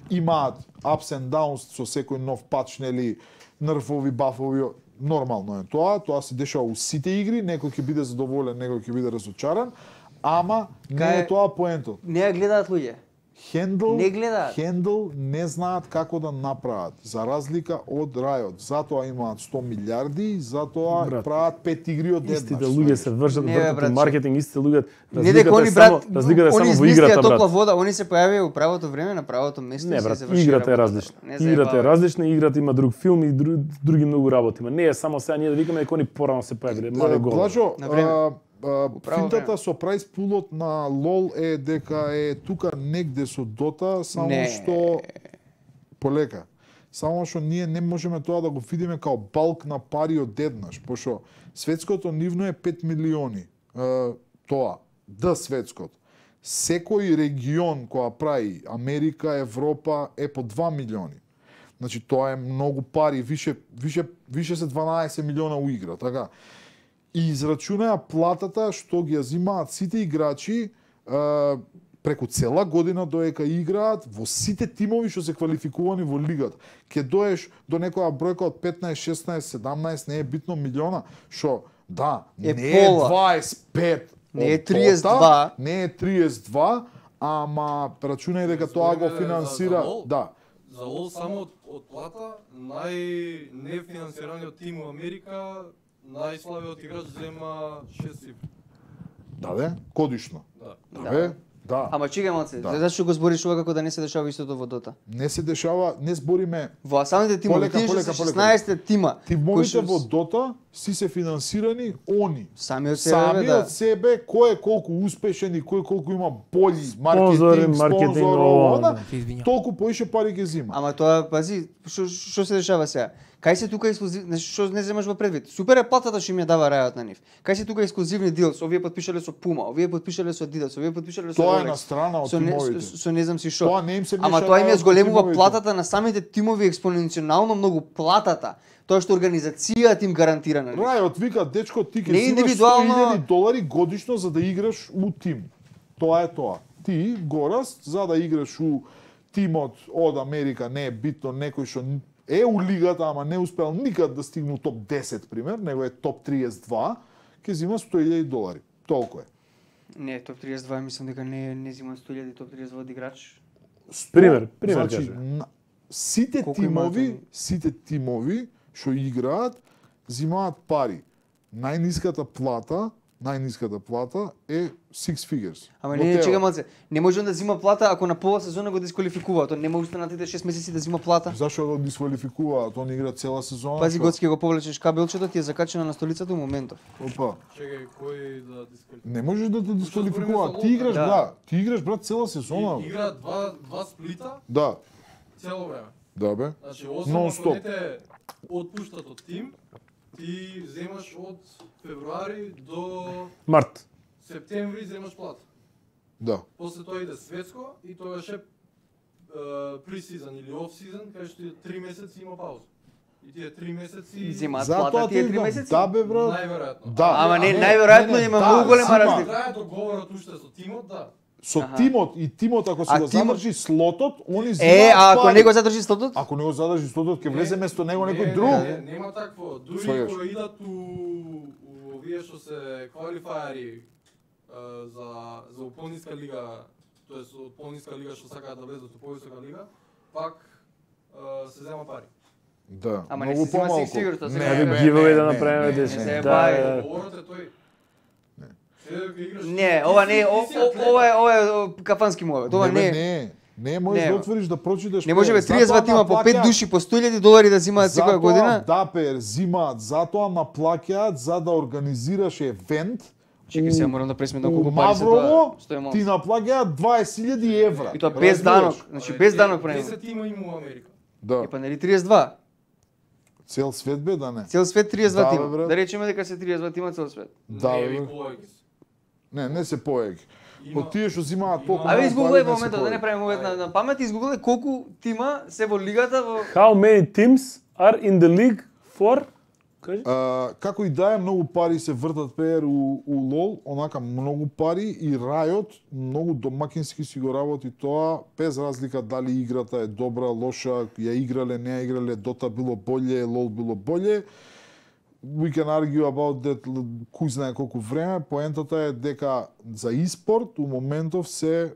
Имаат ups and downs со секој нов пач, нели, нерфови, бафови, нормално е тоа се дешава у сите игри, некој ќе биде задоволен, некој ќе биде разочаран, ама не е тоа поентот. Не ја гледаат луѓе. Handle не знаат како да направат, за разлика од Riot. Затоа имаат 100 милиарди, затоа прават 5 игри од еднаш. Истите луѓе се вршат маркетинг, истите луѓе разликата е само во играта, брат. Топла вода, они се појавија у правото време, на правото место и се завршија. Играта е различна. Играта е различна, играта има друг филм и други многу работи. Не е само сега ние да викаме дека они порано се појавиле, мале гол. Финтата со прайс пулот на LOL е дека е тука негде со Dota, само што полека. Само што ние не можеме тоа да го видиме као балк на пари од еднаш, пошто светското нивно е 5 милиони. Тоа, светското. Секој регион која прави Америка, Европа е по 2 милиони. Значи тоа е многу пари, више се 12 милиона у игра, така. И израчунаа платата што ги ја зимаат сите играчи преку цела година доека играат во сите тимови што се квалификувани во лигата. Ке доеш до некоја бројка од 15, 16, 17, не е битно милиона, што не е 25, Не е 32. Не е 32, ама рачунај дека тоа го финансира, да. За LOL само од плата најнефинансираниот тим во Америка, најслабиот играч зема 6 цифри. Да бе, годишно. Да. Бе, да. Ама чекај малце, Да. зашто го збориш ова како да не се дешава истото во Дота? Не се дешава, не збориме Во самите тимови, тие што се 16 тима. Тимовите во Дота си се финансирани они. Сами од себе, да. од себе, кој е колку успешен и кој колку има бољи Спонзори, маркетинг, спонзор, ова, она, толку поише пари ќе зима. Ама тоа, пази, што се дешава сега? Кај се тука ексклузивни, што не земаш во предвид? Супер е платата што им ја дава Riot на нив. Кај се тука ексклузивни дилс, овие потпишале со Puma, овие потпишале со Adidas, овие потпишале со Тоа е Rolex. на страна од Со тимовите. со не знам си што. Тоа не им се Ама меша тоа им ја на зголемува тимовите. платата на самите тимови експоненционално многу платата. Тоа што организацијата им гарантира на нив. Riot вика, дечко, ти ќе Не зимаш индивидуално- $100,000 годишно за да играш у тим. Тоа е тоа. Ти, Гораст, за да играш у тимот од Америка, не е битно некој што е у лигата, ама не успел никад да стигне у топ 10, пример, него е топ 32, ќе зима $100,000. Толку е. Не, топ 32 мислам дека не зима 100.000 топ 32 од играч. Пример Значи, кажи. сите Колку имаат тимови, они? сите тимови што играат зимаат пари. Најниската плата е six figures. Ама Во не, тео. чека малце. Не може да зима плата ако на пола сезона го дисквалификува. Тоа не може останатите 6 месеци да зима плата. Зашо го дисквалификуваат? Он игра цела сезона. Пази, што? Гоцки го повлечеш кабелчето, ти е закачено на столицата у моментов. Опа. Чекај, кој да дисквалификува? Не можеш да те дисквалификуваат. збориме за Ти играш, лота. да. Ти играш, брат, цела сезона. бе. Игра два сплита Да. цело време. Да, бе. Значи, освен Non-stop. ако не те отпуштат од тим, ти земаш од февруари до Март. септември земаш плата. Да. После тоа иде светско и тогаш е пресизон или оф-сизон, кај што 3 месеци има пауза. И тие 3 месеци Зимаат Затоа плата тие ти 3 знам, месеци. Да, бе, брат. најверојатно. Да. Ама не, Не, најверојатно не, има да, многу голема зима. разлика. Трае договорот уште со тимот, да. Со Аха. тимот и тимот ако А се го тимот- задржи слотот, они зимаат А ако пари. не го задржи стотот? Ако не го задржи слотот, ќе влезе место него некој Не, друг. нема такво. Дури Сваѓаш. кога идат у овие што се квалифаери за уполниска лига, тоест од полниска лига што сакаат да влезат во повисока лига, пак се зема пари. Да, Ама не многу се зима помалку. сигурно, тоа се Не, кажа. бе, Giveaway да не, направиме не, десет. не се Да, бај. да. Договорот е тој. Се дека играш. Не, ова не е, ова е кафански мовет. Ова не е. Не можеш Не, да бе. отвориш да прочиташ. Не може бе Затоа 32 тима по 5 наплаќаат- души по $100,000 да зимаат секоја затоа година. Дапер зимаат, затоа наплаќаат за да организираш евент. Чекај сега морам да пресметнам у колку пари се Маврово, тоа. Што е ти наплаќаат 20.000 евра. И тоа без данок, значи без данок према. 10 тима има во Америка. Да, И па нели 32? цел свет бе да не. Цел свет 32 Да, бе, тима. брат. Да речеме дека се 32 тима цел свет. Да, Не, бе. ви повеќе се. Не се поеги. Има- Од тие што зимаат има- толку. Абе многу изгуглај пари, во не се моментот, да не поеги. правиме мовет на памет, изгуглај колку тима се во лигата во How many teams are in the league for? Кажи. Како и да е, многу пари се вртат пеер у LoL, онака многу пари и Riot многу домакински си го работи тоа, без разлика дали играта е добра, лоша, ја играле, не ја играле, Dota било боле, LoL било боле. We can argue about that кој знае колку време, поентата е дека за e-спорт у моментов се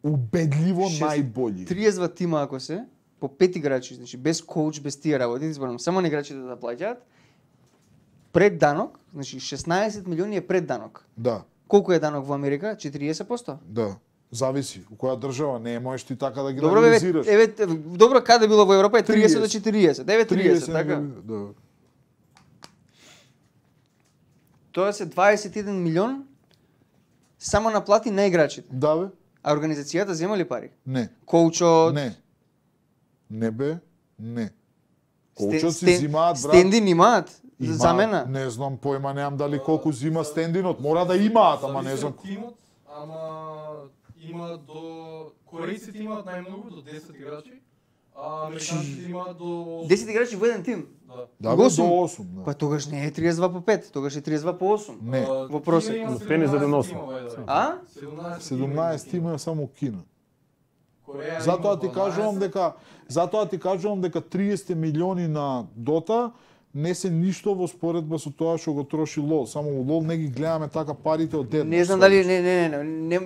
убедливо најбољи. 32 тима ако се, по 5 играчи, значи без коуч, без тие работи, зборам, само на играчите да плаќаат. Пред данок, значи 16 милиони е пред данок. Да, Колку е данок во Америка? 40%. да. Зависи у која држава, не можеш ти така да ги Добро, бе, анализираш. добро каде било во Европа е 30 до 30. 40. 9-30, така? Да. Тоа се 21 милион само на плати на играчите. Да бе? А организацијата зема ли пари? Не. Коучот, Не. Не бе, не. стен- Коучот си стен- зимаат, брат. стендин имаат Има- замена. Не знам, појма немам дали колку зима стендинот. Мора да имаат, ама не Зависи знам. од тимот, ама има до корејците имаат најмногу до 10 играчи, а американците имаат до 8. 10 играчи во еден тим. Да. Да бе, Осум. до 8. Да. Па тогаш не е 32 по 5, тогаш е 32 по 8. Не. Во просек. Кина има Пенис за 17 деносен. тима, by the way. А? 17 има само Кина. Кореја Затоа има ти кажувам 12. дека 30 милиони на Дота не се ништо во споредба со тоа што го троши LOL. Само во LOL не ги гледаме така парите од еднаш. Не знам дали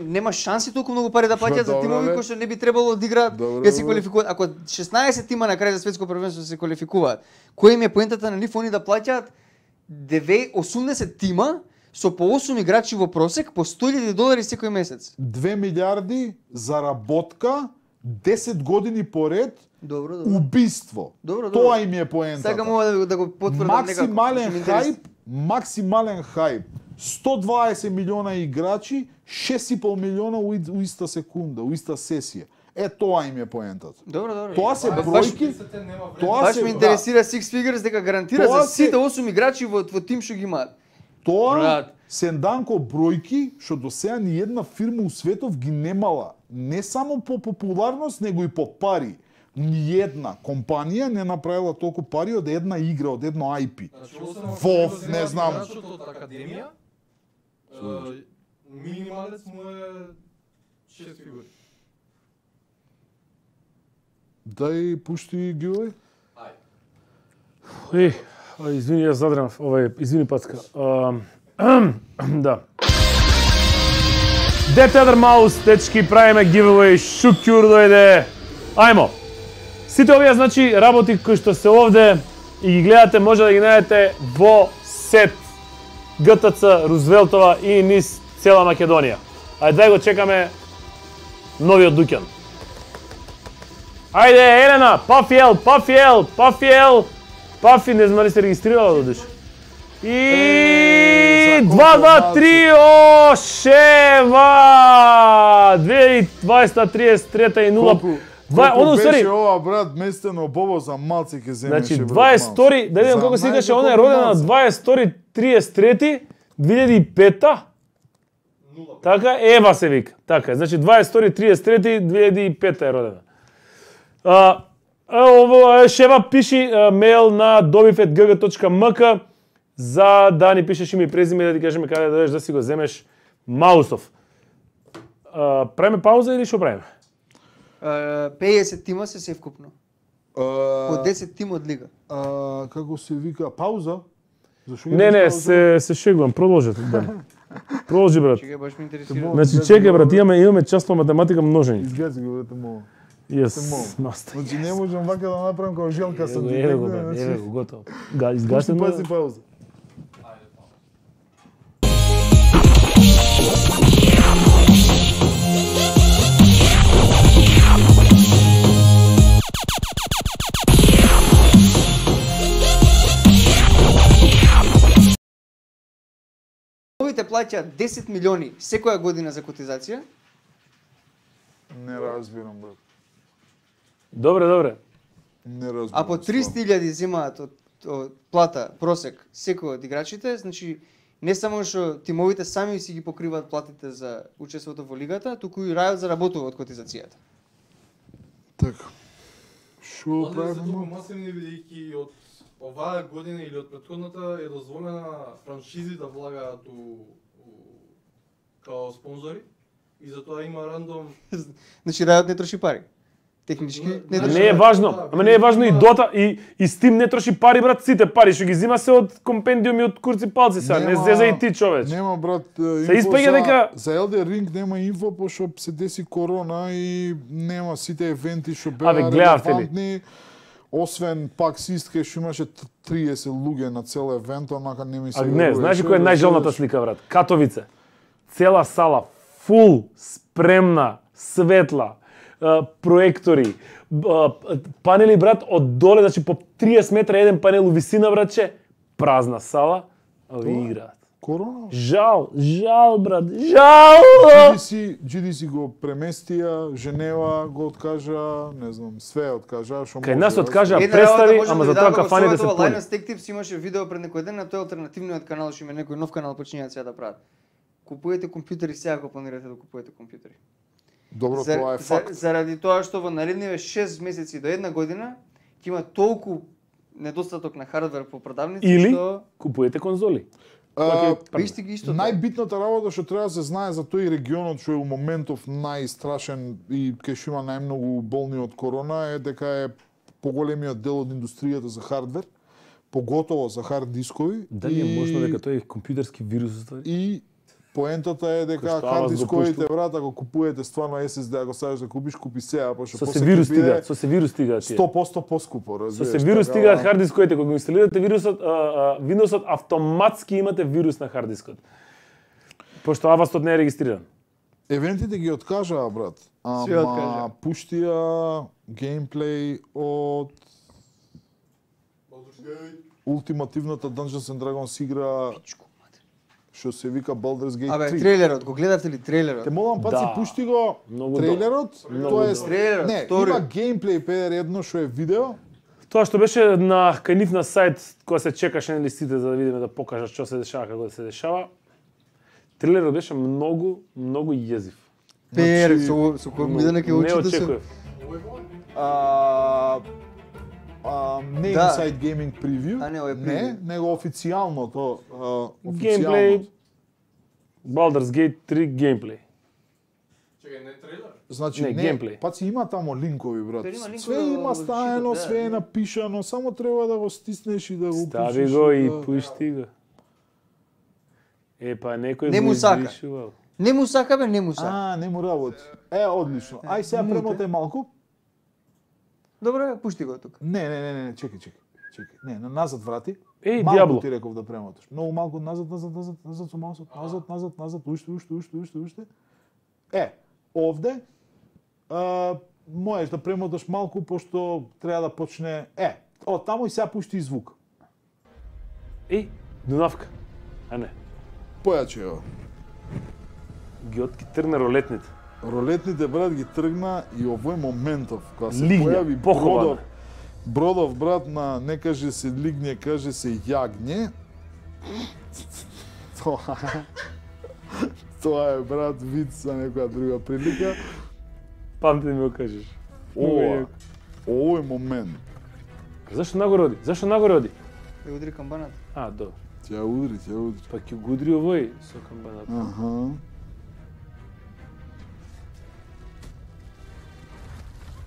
нема шанси толку многу пари да плаќаат за тимови кои што не би требало да играат, ќе се квалификуваат. Ако 16 тима на крај за светско првенство се квалификуваат, кој им е поентата на нив они да плаќаат 80 тима со по 8 играчи во просек по $100,000 секој месец. 2 милиарди заработка 10 години поред. Добро. Убиство. Тоа им е поентата. Сега мога да го потврдам максимален хајп. 120 милиона играчи, 6,5 милиона у иста секунда, у иста сесија. Тоа им е поентата. Добро. Тоа се бројки. Баш ме интересира Six Figures дека гарантира за сите 8 играчи во тим што ги имаат. Тоа се данко бројки што до сега ни една фирма у светов ги немала. Не само по популарност, него и по пари. Ни една компанија не направила толку пари од една игра, од едно IP. WoW, не знам. Од академија, минималец му е 6 фигури. Дај пушти ги Извини, јас задрав, извини Пацка. Да. Dead Tether Mouse, дечки, правиме giveaway, Шукјур дојде. Ајмо. Сите овие, значи, работи кои што се овде и ги гледате, може да ги најдете во сет ГТЦ Рузвелтова и низ цела Македонија. Ајде да го чекаме новиот дуќан. Ајде, Елена, Пафи, не знам дали се регистрирала додиш. И 2, 2, 3, Ошева! 2020-33 и 0. Колку беше ова, брат, местено Бобо за малци ке земеше. Значи, 22, да видам колку се играше, она е родена на 22-33, 2005-та. Така, Ева се вика. Така, значи 22-33, 2005-та е родена. Шева пиши мейл на dobifet.gg.mk за да ни пишеш име и презиме и да ти кажеме каде да дојдеш да си го земеш маусов. Правиме пауза или што правиме? 50 тима се севкупно. По 10 тима од лига. Како се вика, пауза? Не, се шегувам, продолжете. Да. Продолжи, брат. Чекај, баш ме интересира. Значи, чекај, брат, имаме час по математика множење. Изгази го, брате, мова. Маста. Значи, не можам вака да направам како желка сам. Еве го, готово. Изгасен. Пази пауза. Овите плаќаат 10 милиони секоја година за котизација. Не разбирам, брат. Добре. Не разбирам. А по 300.000 земаат од плата просек секој од играчите, значи не само што тимовите сами си ги покриваат платите за учеството во лигата, туку и рајот заработува од котизацијата. Така. Шо правиме? Толку масивни бидејќи од оваа година или од претходната е дозволена франшизи да влагаат као спонзори и затоа има рандом. Значи рајот не троши пари. Технички не троши. Не е важно, ама не е важно и Дота и Steam не троши пари, брат, сите пари што ги зима се од компендиуми од курци палци сега, не зеза и ти, човеч. Нема, брат, се испаѓа дека за Elden Ring нема инфо пошто се деси корона и нема сите евенти што беа релевантни. Освен пак Систке што имаше 30 луѓе на цел евент, онака не ми се верува. Не, знаеш која е најжалната слика, брат? Катовице. Цела сала, фул, спремна, светла, проектори, панели, брат, од доле, значи по 30 метра еден панел у висина, братче, празна сала, а ви играат. Корона? Жал, брат, жал! GDC го преместија, Женева го откажа, не знам, све откажа, што кај нас откажа представи, ама за тоа кафаните се пуни. Linus Tech Tips имаше видео пред некој ден на тој алтернативниот канал, што има некој нов канал почињаат сега да прават. Купуете компјутери сега ако планирате да купувате компјутери. Добро, тоа е факт. Заради тоа што во наредниве 6 месеци до една година ќе има толку недостаток на хардвер по продавници или што купуете конзоли. Најбитната работа што треба да се знае за тој регионот што е у моментов најстрашен и кај што има најмногу болни од корона е дека е поголемиот дел од индустријата за хардвер, поготово за хард дискови. Дали е можно дека тој е компјутерски вирус ствари? И поентата е дека хард дисковите, брат, ако купувате стварно SSD, ако сакаш да купиш, купи сега, пошто со се вирус стигаат, со се вирус стигаат тие. 100% поскупо, разбираш. Со се вирус стигаат хард дисковите, кога го инсталирате вирусот, Windows-от автоматски имате вирус на хард дискот. Пошто Avast не е регистриран. Евентите ги откажаа, брат. Ама пуштија геймплей од ултимативната Dungeons and Dragons игра што се вика Baldur's Gate 3. Абе, трейлерот, го гледавте ли трейлерот? Те молам паци, пушти го трейлерот, тоа е трейлерот, не, има геймплей педер едно што е видео. Тоа што беше на кај нив на сајт кога се чекаше на листите за да видиме да покажат што се дешава, како се дешава. Трейлерот беше многу језив. Пер, со кој бидење ќе очите се. Не очекував. Не Inside Gaming Preview. Не, него официјалното. Геймплей. Baldur's Gate 3 геймплей. Чекај, не трейлер? Значи не геймплей. Паци има таму линкови, брат. Све има стаено, све е напишано, само треба да го стиснеш и да го пишеш. Стави го и пушти го. Па некој не го изришувал. Не му сака, бе, не му сака. Не му работи. Одлично. Ај сега премотај малку. Добре, пушти го тука. Не, чекај. Не, назад врати. Диабло. Ти реков да премоташ. Многу малку назад со маусот. Назад, уште. Овде можеш да премоташ малку пошто треба да почне. Таму и сега пушти звук. Дунавка. А не. Појаче го. Ги тргна ролетните. Ролетните, брат, ги тргна и овој моментов, кога се Лигне, појави Бродов, брат, на не каже се лигне, каже се јагне. Тоа е, брат, вид за некоја друга прилика. Памти да ми го кажеш. Овој момент. Зашто нагороди? Ја удри камбаната. Добро. Ќе удри. Па ќе го удри овој со камбаната.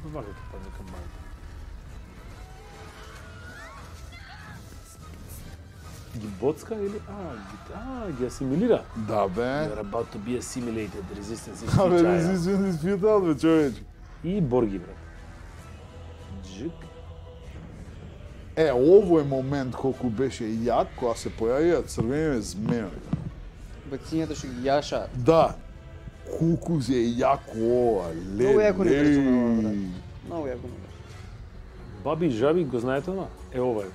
Вака ќе падне камбаната. Ги боцка или? Ги асимилира? Да, бе. You're about to be assimilated. Resistance is futile. Resistance is futile, бе, човече. И борги, брат. Джик. Овој момент колку беше јак, кога се појавија црвените змеови. Бацињата што ги јашаат. Да. Колку е јако ова, леле. Многу јако не разумева, брат. Многу јако не. Баби и жаби, го знаете ова? Ова е.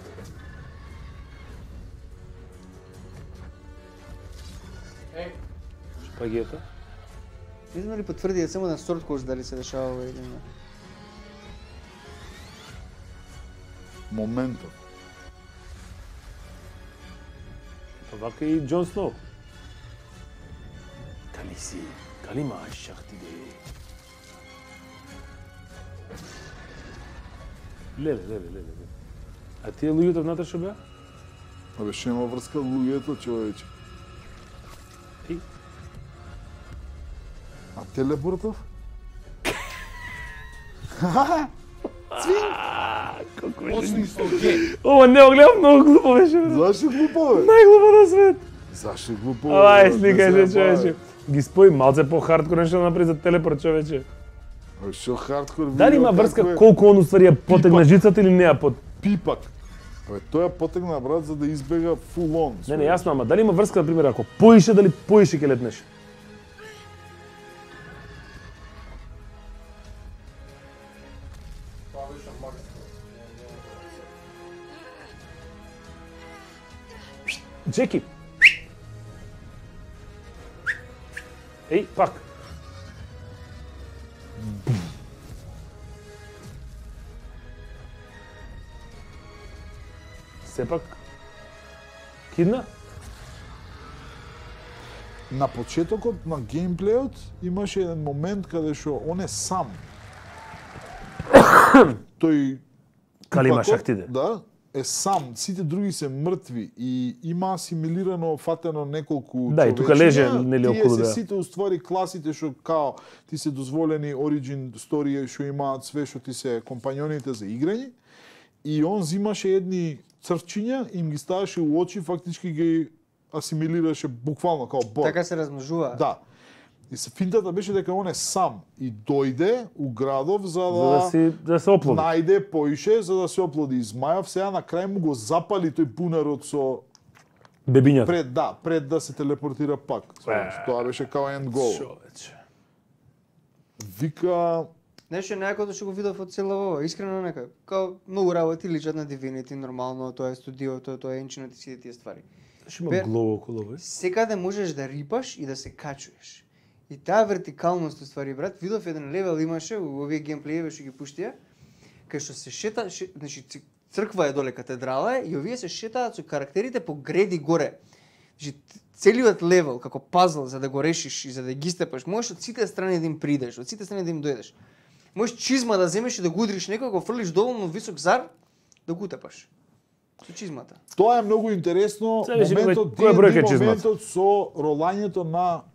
Шпагета. Не знам ли потврди само на сорт кош дали се дешава ова или не. Моментот. Вака и Џон Сноу. Кали мааш шахтиде. Леле. А тие луѓето внатре што беа? Абе, ше има врска луѓето, човече. А телепортов? Колку беше. Ова не го гледам, многу глупо беше. Зашто глупо, бе? Најглупо на свет. Зашто глупо? Сликај се, човече. Ги спои малце по-хардкор нешто да направи за телепорт, човече. Шо хардкор видео? Дали има врска колку он уствари ја потегна жицата или не ја Пипак. Тој ја потегна, брат, за да избега фул он. Не, јасно, ама дали има врска, например, ако поише, дали поише ќе летнеш? Джеки. Пак. Сепак кидна? На почетокот на геймплеот имаше еден момент каде што он е сам. Тој Калима шахтиде. Да, е сам, сите други се мртви и има асимилирано, фатено неколку човечиња. Да, и тука леже нели околу да. Тие се сите уствари класите што као ти се дозволени origin story што имаат све што ти се компањоните за играње. И он зимаше едни црвчиња, им ги ставаше у очи, фактички ги асимилираше буквално као бор. Така се размножува. Да. И финтата беше дека он е сам и дојде у градов за да се оплоди. Најде поише за да се оплоди. Измајав сега на крај му го запали тој пунарот со бебињата. Пред да се телепортира пак. Тоа беше као end goal. Вика Нешто некој што го видов од цело ова, искрено нека. Као многу работи личат на Divinity, нормално, тоа е студиото, тоа е енчинот и сите тие ствари. Што има глово околу овој? Секаде можеш да рипаш и да се качуваш. И таа вертикалност ствари, брат, видов еден левел имаше у овие геймплееви што ги пуштија, кај што се шета, значи црква е доле, катедрала е, и овие се шетаат со карактерите по греди горе. Значи целиот левел како пазл за да го решиш и за да ги степаш, можеш од сите страни да им придеш, од сите страни да им дојдеш. Можеш чизма да земеш и да го удриш некој, го фрлиш доволно висок зар да го утепаш. Со чизмата. Тоа е многу интересно, моментот со ролањето на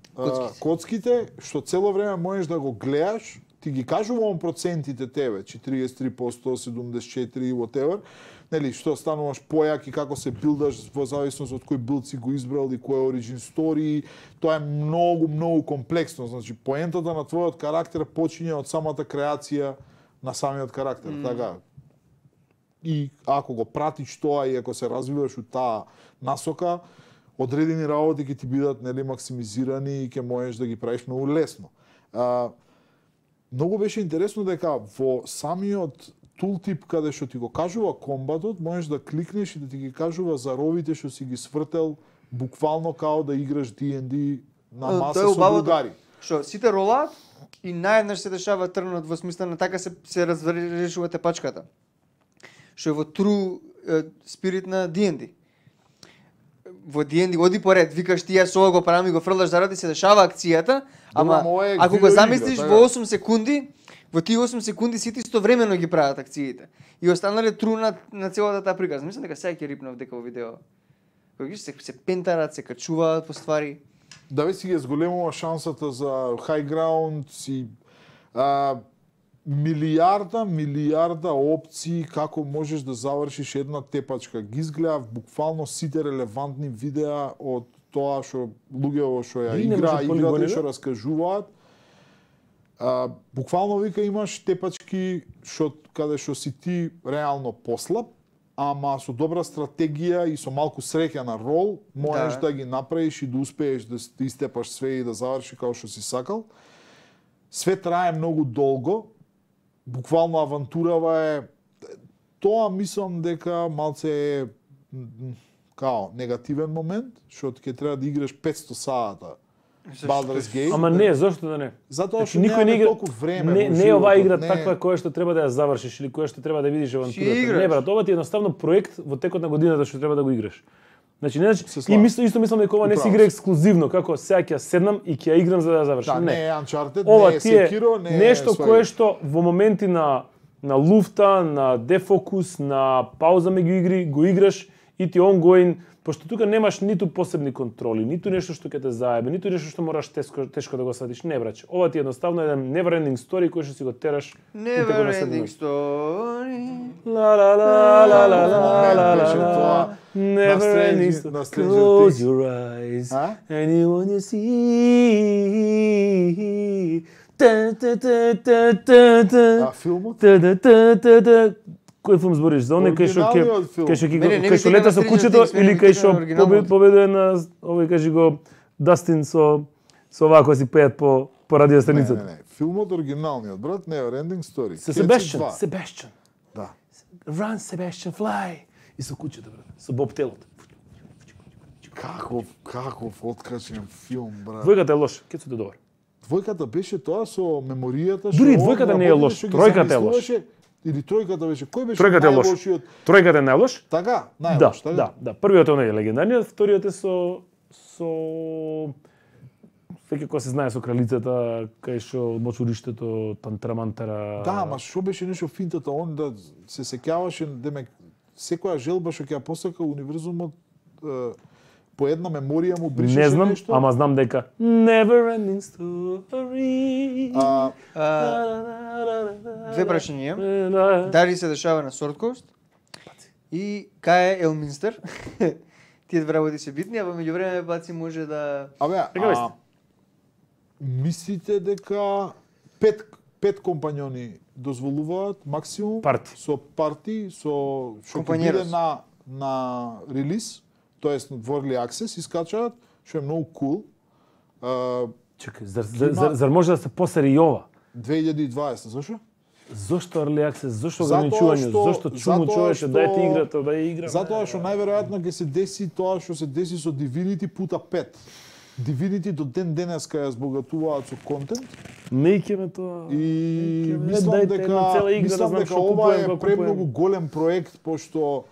коцките, што цело време можеш да го гледаш, ти ги кажувам процентите тебе, 43%, 74%, whatever, нели, што стануваш појак и како се билдаш во зависност од кој билд си го избрал и кој origin story, тоа е многу комплексно, значи поентата на твојот карактер почиња од самата креација на самиот карактер, така. И ако го пратиш тоа и ако се развиваш у таа насока, одредени работи ќе ти бидат нели максимизирани и ќе можеш да ги правиш многу лесно. Многу беше интересно дека во самиот тултип каде што ти го кажува комбатот, можеш да кликнеш и да ти ги кажува заровите што си ги свртел буквално као да играш D&D на маса со другари. Што сите ролаат и наеднаш се дешава трнот во смисла на така се разрешува тепачката. Што е во true spirit на D&D. Во D&D оди поред, викаш ти ја со ова го правам и го фрлаш заради се дешава акцијата, ама ако го замислиш во 8 секунди, во тие 8 секунди сите истовремено ги прават акциите. И останале тру на целата таа приказна. Мислам дека сега ќе рипнав дека во видео. Кога се пентарат, се качуваат по ствари. Да ве си ги зголемува шансата за high ground, си милиарда опции како можеш да завршиш една тепачка. Ги изгледав буквално сите релевантни видеа од тоа што луѓето што ја играта и што раскажуваат. Буквално вика имаш тепачки каде што си ти реално послаб, ама со добра стратегија и со малку среќа на рол можеш да ги направиш и да успееш да истепаш све и да заврши како што си сакал. Све трае многу долго. Буквално авантурава е тоа мислам дека малце е као негативен момент, што ќе треба да играш 500 сата Baldur's Gate. Ама не, зошто да не? Затоа што никој не игра толку време. Не оваа игра таква која што треба да ја завршиш или која што треба да видиш авантурата. Не брат, ова ти е едноставно проект во текот на годината што треба да го играш. Значи не и исто мислам дека ова не се игра ексклузивно, како сега ќе седнам и ќе ја играм за да ја завршам. Не е Uncharted, не е Sekiro, не е нешто кое што во моменти на луфта, на дефокус, на пауза меѓу игри го играш и ти ongoing, пошто тука немаш ниту посебни контроли, ниту нешто што ќе те заебе, ниту нешто што мораш тешко да го сватиш. Не браќе, ова ти е едноставно еден never ending story кој што си го тераш. Never ending story. La la la la la la la. Never ending story. Close your eyes and you want to see. Филмот? Кој филм збориш? За оној кај што лета со кучето или кај што победува на овој кажи го Дастин со оваа кој си пеат по радиостаницата? Не, филмот оригиналниот, брат, Never Ending Story. Себастијан. Да. Run Sebastian Fly. И со кучето, брат, со бобтелот. Каков откачен филм, брат. Двојката е лош, ќе се добар. Двојката беше тоа со меморијата што. Дури двојката не е лош, тројката е лош. Или тројката беше, кој беше најлошиот? Тројката е најлош? Така, најлош, така. Да. Првиот е оној легендарниот, вториот е со веќе кога се знае со кралицата, кај што мочуриштето Тантрамантара. Да, ама што беше нешто финтата, он да се сеќаваше, демек секоја желба што ќе ја посака универзумот по една меморија му бришеше нешто. Не знам, ама знам дека Never Ending Story. Две прашања. Дали се дешава на Sword Coast? И кај е Елминстер? Тие две работи се битни, а во меѓувреме Баци може да... Мислите дека пет компањони дозволуваат максимум со парти, со што ќе биде на релиз, тоест во Early Access искачаат, што е многу кул. Чекај, зар може да се посери и ова? 2020, зашо? Зошто Early Access, зошто ограничување, зошто чуму човече, дајте играта, да ја играме. Затоа што најверојатно ќе се деси тоа што се деси со Divinity пута 5. Divinity до ден денеска ја збогатуваат со контент. Не икеме тоа. И мислам дека ова е премногу голем проект, пошто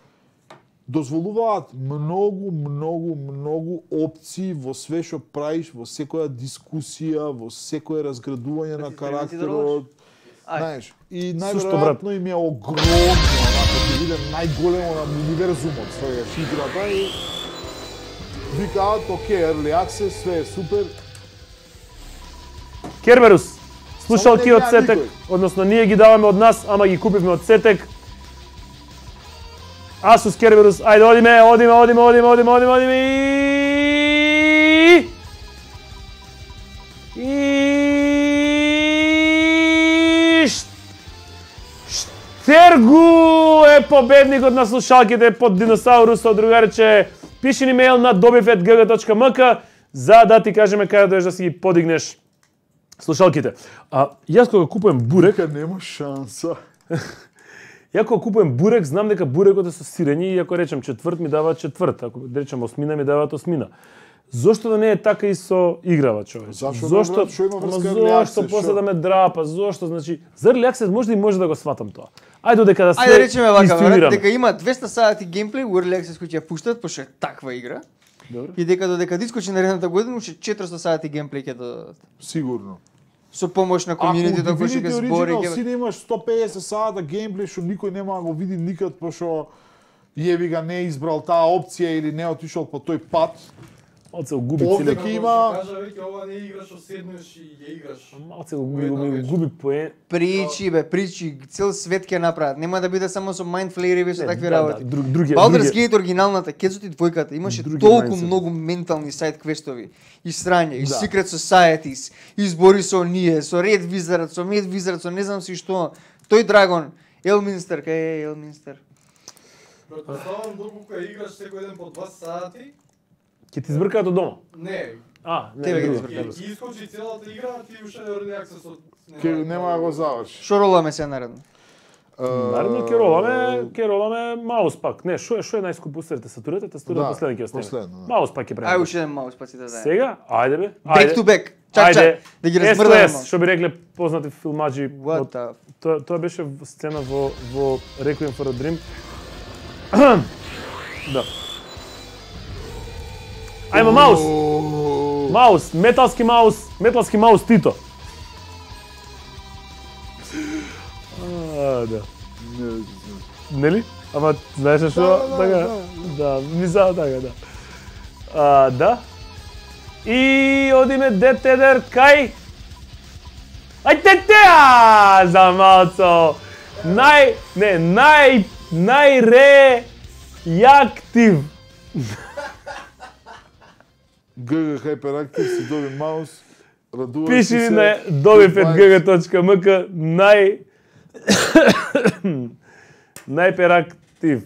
дозволуваат многу опции во све што правиш, во секоја дискусија, во секое разградување на карактерот. Знаеш, и најверојатно им е огромно, ќе биде најголемо на универзумот своја играта и викаат, окей, Early Access, све е супер. Керберус, слушалки од Сетек, односно ние ги даваме од нас, ама ги купивме од Сетек. Asus Kerberus, ајде одиме и Штергу е победникот на слушалките под диносаурусот, другарче. Пиши ни мејл на dobifet@gg.mk за да ти кажеме каде доеш да си ги подигнеш слушалките. Јас кога купувам бурек, нема шанса. Ја кога купувам бурек, знам дека бурекот е со сирење и ако речем четврт ми даваат четврт, ако речем осмина ми даваат осмина. Зошто да не е така и со играва, човече? Зошто после да ме драпа? Зошто, значи, за Early Access може да го сватам тоа. Ајде додека да се Ајде речеме вака, дека има 200 сати геймплей во Early Access кои ќе ја пуштат, пошто е таква игра. Добре. И додека дискочи наредната година, уште 400 сати геймплей ќе додадат. Сигурно. Со помош на комјунитито кој ќе збори. Ако си имаш 150 сата геймплей што никој нема да го види никад, пошто јеви га не избрал таа опција или не отишол по тој пат. Малце го губи целиот. Овде има кажа веќе ова не играш, седнеш и ја играш. Малце го губи поен. Причи, цел свет ќе направат. Нема да биде само со майндфлеери со такви работи. Baldur's Gate оригиналната, Кецот и двојката имаше толку многу ментални сайд квестови, и срање, и Secret Societies, и збори со оние, со Red Wizard, со Mad Wizard, со не знам си што. Тој драгон, Елминстер, кај е Елминстер? Претпоставам доколку ја играш секој ден по 2 сати. Ќе ти збркаат од дома? Не. Тебе ги збркаат. Ќе искочи целата игра, ти уште Early Access од... Ке нема да го заврши. Шо роламе се наредно? Наредно ќе роламе маус пак. Не, шо е најскупо устрем? Тастатурата последен ќе остане. Маус пак ќе правиме. Ај уште еден маус пак си да даде. Сега? Ајде бе. Back to back. Чак, да ги размрдаме. Што би рекле познати филмаџи. Тоа беше сцена во Requiem for a Dream. Да. Ајма маус. Маус, металски маус Тито. Да. Нели? Ама знаеш што? Така. Да, мисла така, да. Да. И одиме детедер кај Ајде за малцо. Најреактив. GG Hyperactive си доби маус. Радуваш Пиши се. ми на dobifet@gg.mk најперактив.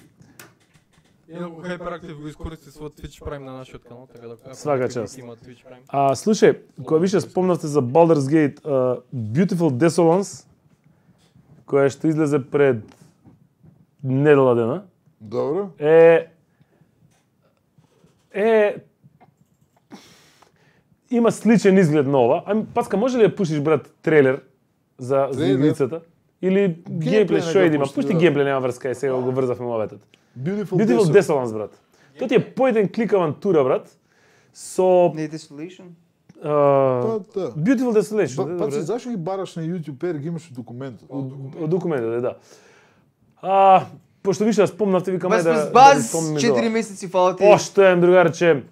Инаку Hyperactive го искористи својот Twitch Prime на нашиот канал, така да Свака част. има Twitch Prime. Слушај, кога више спомнавте за Baldur's Gate, Beautiful Desolance, која што излезе пред недела дена. Добро. Има сличен изглед на ова. Паска, може ли да пуштиш, брат, трейлер за игрицата? Или геймплей што има? Пушти геймплей, нема врска, сега го врзавме моветот. Beautiful Desolance, брат. Тоа ти е поеден клик авантура, брат, со... Не Desolation? Beautiful Desolation. Паци, зашо ги бараш на YouTube, ги имаш документот? Од документот, да. Пошто више да спомнавте, викам да... Баз, 4 месеци фала ти. Поштоен, другарче.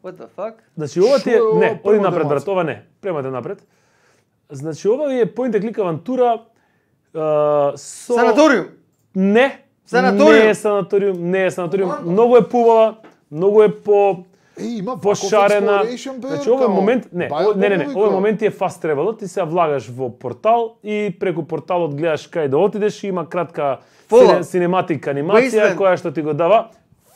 What the fuck? Значи, ова ти е... Не, оди напред, брат, ова не. Премате напред. Значи, ова е point and click авантура со... Санаториум? Не, Не е санаториум, многу е поубава, многу е пошарена. Значи овој момент, овој момент е fast travel, ти се влагаш во портал и преку порталот гледаш кај да отидеш и има кратка синематика анимација која што ти го дава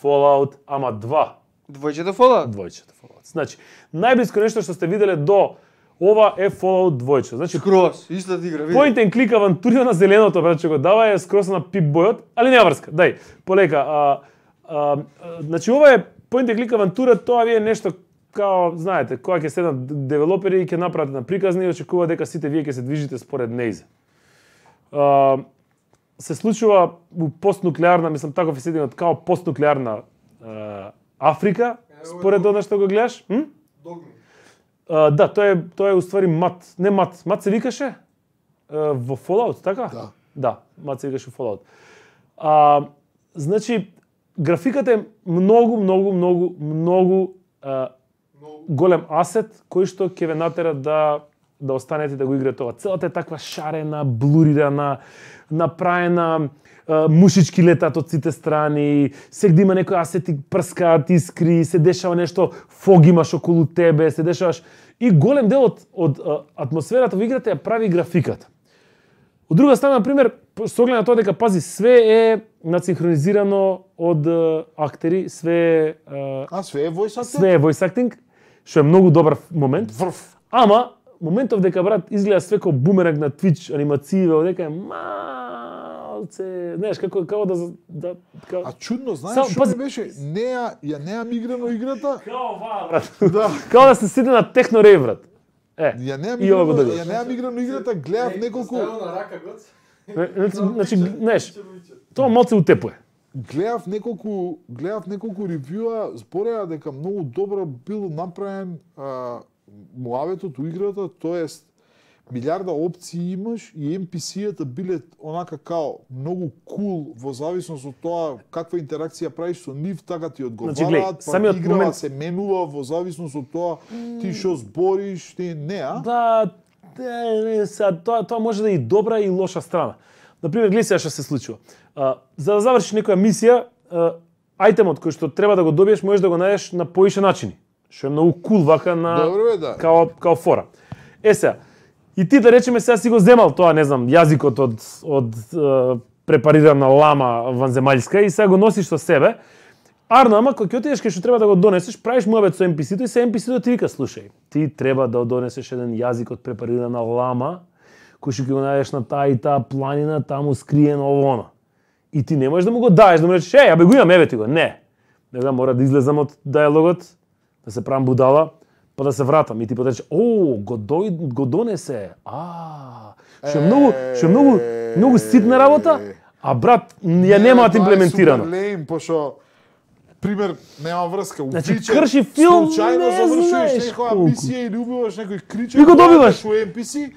Fallout, ама 2. Двојчето Fallout. Значи, најблиско нешто што сте виделе до ова е Fallout 2. Значи, скрос, истата игра, види. Point and click авантура на зеленото, брат, што го дава е скрос на пип бојот, али нема врска. Дај, полека. Значи, ова е Point and click авантура, тоа ви е нешто као, знаете, кога ќе седнат девелопери и ќе направат на приказни и очекува дека сите вие ќе се движите според неизе. Се случува у постнуклеарна, мислам таков е сединот, као постнуклеарна Африка, според она што го гледаш. Да, тоа е уствари Мат. Не Мат се викаше во Fallout, така? Да, Мат се викаше во Fallout. Значи, графиката е многу голем асет кој што ќе ве натера да останете да го играте тоа. Целата е таква шарена, блурирана, направена, мушички летат од сите страни, сегде има некои асети прскаат, искри, се дешава нешто, фог имаш околу тебе, се дешаваш и голем дел од атмосферата во играта ја прави графиката. Од друга страна, например, со оглед на тоа дека пази све е нацинхронизирано од актери, све е voice acting, што е многу добар момент. Ама моментов дека брат изгледа све како бумеранг на Twitch анимацииве, дека е малце, знаеш, како да А чудно, знаеш што ми беше? Ја неам играно играта. Као ова, брат. Да. Као да се седи на техно рейв, брат. Ја неам играно играта, гледав неколку. Значи, знаеш, тоа малце утепуе. Гледав неколку ревјуа, збореа дека многу добро бил направен муаветот у играта, тоест милиарда опции имаш и NPC-ата биле онака као многу кул во зависност од тоа каква интеракција правиш со нив, така ти одговараат, самиот момент се менува во зависност од тоа ти што збориш, ти не, Да, тоа може да е и добра и лоша страна. Например, гледај сега што се случува. За да завршиш некоја мисија, ајтемот кој што треба да го добиеш, можеш да го најдеш на поише начини. Што е многу кул вака на као фора. Сега, и ти да речеме сега си го земал тоа, не знам, јазикот од препарирана лама ванземаљска и сега го носиш со себе. Арно, ама кога ќе отидеш кај што треба да го донесеш, правиш муабет со NPC-то и се NPC-то ти вика, слушај, ти треба да донесеш еден јазик од препарирана лама, кој што ќе го најдеш на таа и таа планина, таму скриено ово. И ти не можеш да му го даеш, да му речеш, абе го имам, еве ти го. Не. Нега мора да излезам од диалогот, да се правам будала, па да се вратам и ти потече, го донесе. Што е многу ситна работа, а брат ја немаат имплементирано. Пошо пример нема врска. Значи крши филм, случајно завршуваш некоја мисија или убиваш некој криче, и го добиваш во NPC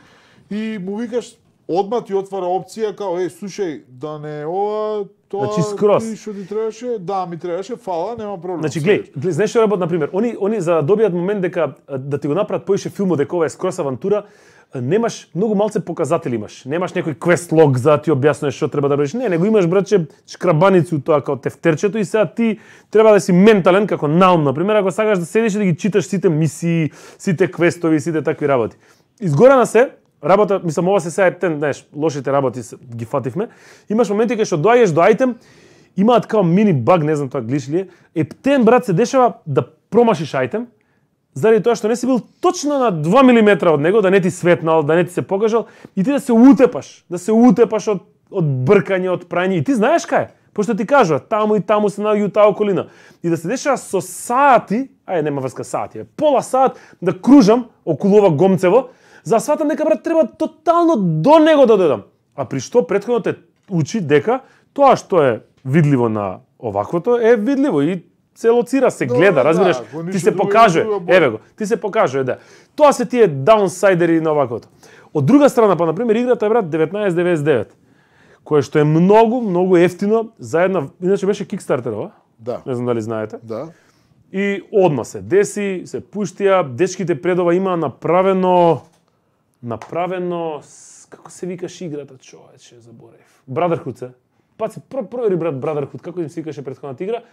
и му викаш одма ти отвара опција као слушај, да не ова тоа што ти требаше, да ми требаше, фала, нема проблем. Значи гледај, знаеш што работат на пример, они за да добијат момент дека да ти го направат поише филмот дека ова е скрос авантура, немаш многу малце показатели имаш. Немаш некој квест лог за да ти објасниш што треба да правиш. Не, него имаш братче шкрабаници у тоа као тефтерчето и сега ти треба да си ментален како наум, на пример, ако сакаш да седиш и да ги читаш сите мисии, сите квестови, сите такви работи. Изгорана се работа, мислам, ова се сега знаеш, лошите работи ги фативме. Имаш моменти кај што доаѓаш до ајтем, имаат као мини баг, не знам тоа глиш ли е. Ептен брат се дешава да промашиш ајтем, заради тоа што не си бил точно на 2 мм од него, да не ти светнал, да не ти се покажал и ти да се утепаш од бркање, од прање. И ти знаеш кај, пошто ти кажуваат, таму и таму се наоѓа таа околина. И да се дешава со сати, нема врска сати, пола сат да кружам околу ова гомцево, за сватам дека брат треба тотално до него да дојдам. А при што претходно те учи дека тоа што е видливо на оваквото е видливо и се лоцира, се гледа, разбираш, ти се покажува, еве го, ти се покажува, да. Тоа се тие даунсайдери на оваквото. Од друга страна, па, например, играта е, брат, 1999, кое што е многу ефтино, заедно, иначе беше Kickstarter-ова, да. Не знам дали знаете. Да. И одма се деси, се пуштија, дечките предова има направено, како се викаш играта, човече, заборев. Brotherhood се. паци провери брат Brotherhood како им се викаше претходната игра,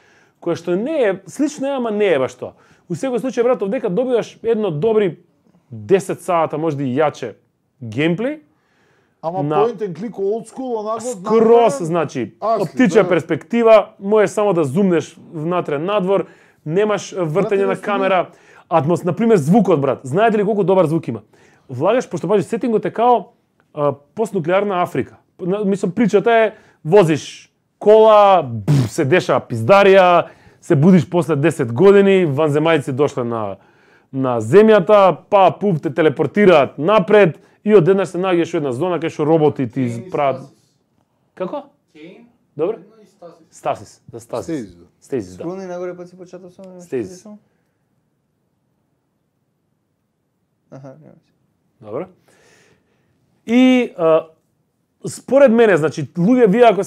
која што не е слично ама не е баш тоа. У секој случај брат овдека добиваш едно добри 10 сата, можда и јаче геймплей. Ама point and click old school онако скрос, значи од птичја перспектива, можеш само да зумнеш внатре надвор, немаш вртење на камера, на пример звукот брат. Знаете ли колку добар звук има? Влагаш пошто пази сетингот е као постнуклеарна Африка. Мислам причата е возиш кола, се деша пиздарија, се будиш после 10 години, ванземајци дошле на земјата, па пуп те телепортираат напред и одеднаш се наѓаш во една зона кај што роботи ти прават. Како? Кейн? Добро? Стасис, да Стасис. Стасис, да. Скрони нагоре па си почетов само. Стасис. Аха, нема. Добро. И според мене, значи, луѓе вие ако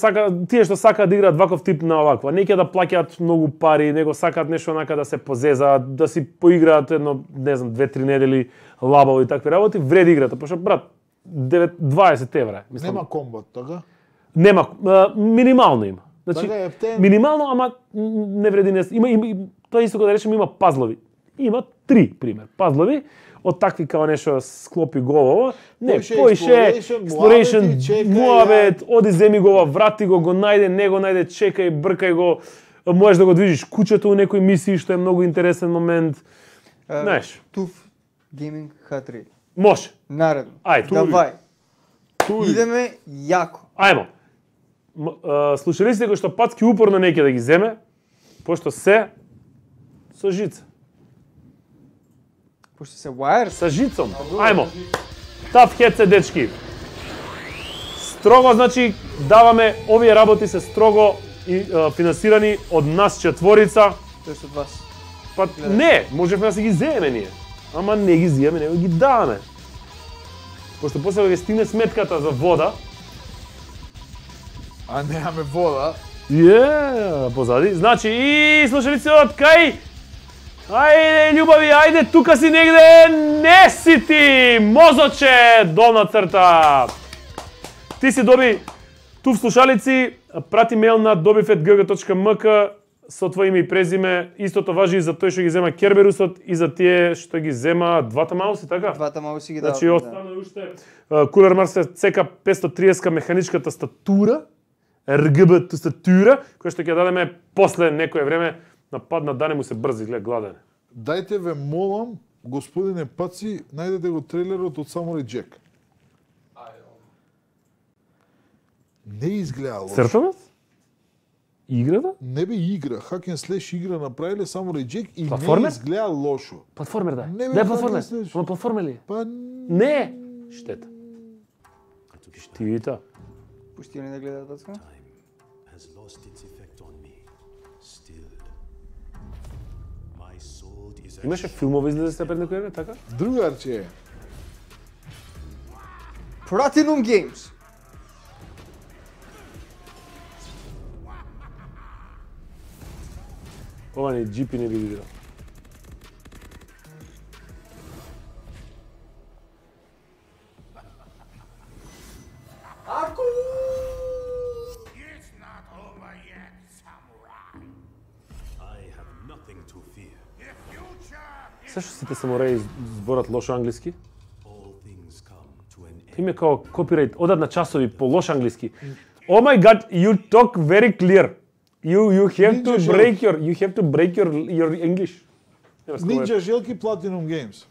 тие што сакаат да играат ваков тип на оваква, не ќе да плаќаат многу пари, него сакаат нешто онака да се позезаат, да си поиграат едно, не знам, 2-3 недели лабаво и такви работи, вреди играта, пошто брат 20 евра. Мислам, нема комбат, така? Нема, минимално има. Значи, така минимално, ама не вреди не. Има тоа исто кога да речеме има пазлови. Има 3 пример пазлови. Од такви као нешто склопи голово, не, поише, exploration, муабет, оди земи го, врати го најде, не го најде, чекај, бркај го, можеш да го движиш кучето у некој мисии, што е многу интересен момент. Знаеш. TUF Gaming H3. Може. Наредно. Ајде. Давај. Идеме јако. Ајмо. Слушалиците кои што Пацки упорно неќе да ги земе, пошто се со жица. Пошто се wire со жицом. Ајмо. Tough headset дечки. Строго значи даваме овие работи се строго и финансирани од нас четворица. Тоест од вас. Па не, можевме да се ги земеме ние. Ама не ги земеме, него ги даваме. Пошто после кога ќе стигне сметката за вода, а немаме вода. Позади. Значи и слушалици од кај ајде, љубави, ајде, тука си негде, не си ти, мозоче, долна црта. Ти си доби туф слушалици, прати мејл на dobifet.gg.mk со твое име и презиме. Истото важи и за тој што ги зема Керберусот и за тие што ги зема двата мауси, така? Двата мауси ги даваме. Значи, остана уште Cooler Master CK530 механичка тастатура, RGB тастатура, која што ќе дадеме после некое време. Нападна да не му се брзи, глед, гладен. Дајте ве молам, господине Паци, најдете го трейлерот од Samurai Jack. Не изгледа лошо. Цртанот? Играта? Не бе игра, hack and slash игра направиле Samurai Jack и платформер? Не изгледа лошо. Платформер да. Не бе, да е платформер. Ама платформер ли? Па не. Штета. Штита. Пусти они да гледаат Пацка. Имаше филмови излезе пред некој време, така? Другарче. Platinum Games. Ова не GP не би играл. Ако Се што сите самураи зборат лошо англиски? Име као копирајт, одат на часови по лош англиски. Oh my god, you talk very clear. You have to break your English. Ninja Желки Platinum Games.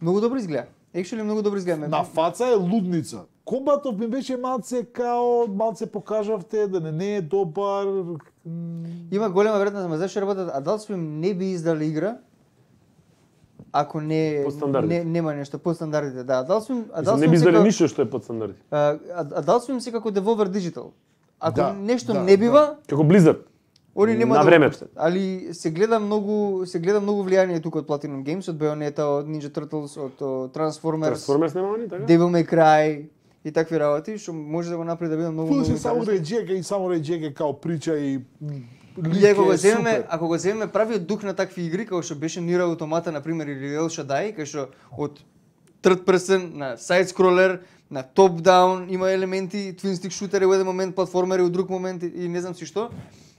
Многу добро изгледа. Actually многу добро изгледа. На фаца е лудница. Комбатов ми беше малце покажавте да не е добар. Има голема веројатност, ама зашто работат Adult Swim не би издали игра ако не нема нешто под стандардите. Да, Adult Swim не би издали ништо што е под стандарди. Adult Swim се како Devolver Digital. Ако нешто не бива, како Blizzard. Они нема да го пуштат. Али се гледа многу влијание тука од Platinum Games, од Bayonetta, од Ninja Turtles, од Transformers. Transformers нема они, така? Devil May Cry и такви работи, што може да го направи да биде многу Samurai Jack као прича и И ако го земеме правиот дух на такви игри, како што беше Nier Automata, например, или El Shaddai, кај што од third person, на side scroller, на top down, има елементи, twin stick shooter во еден момент, платформери во друг момент и не знам си што.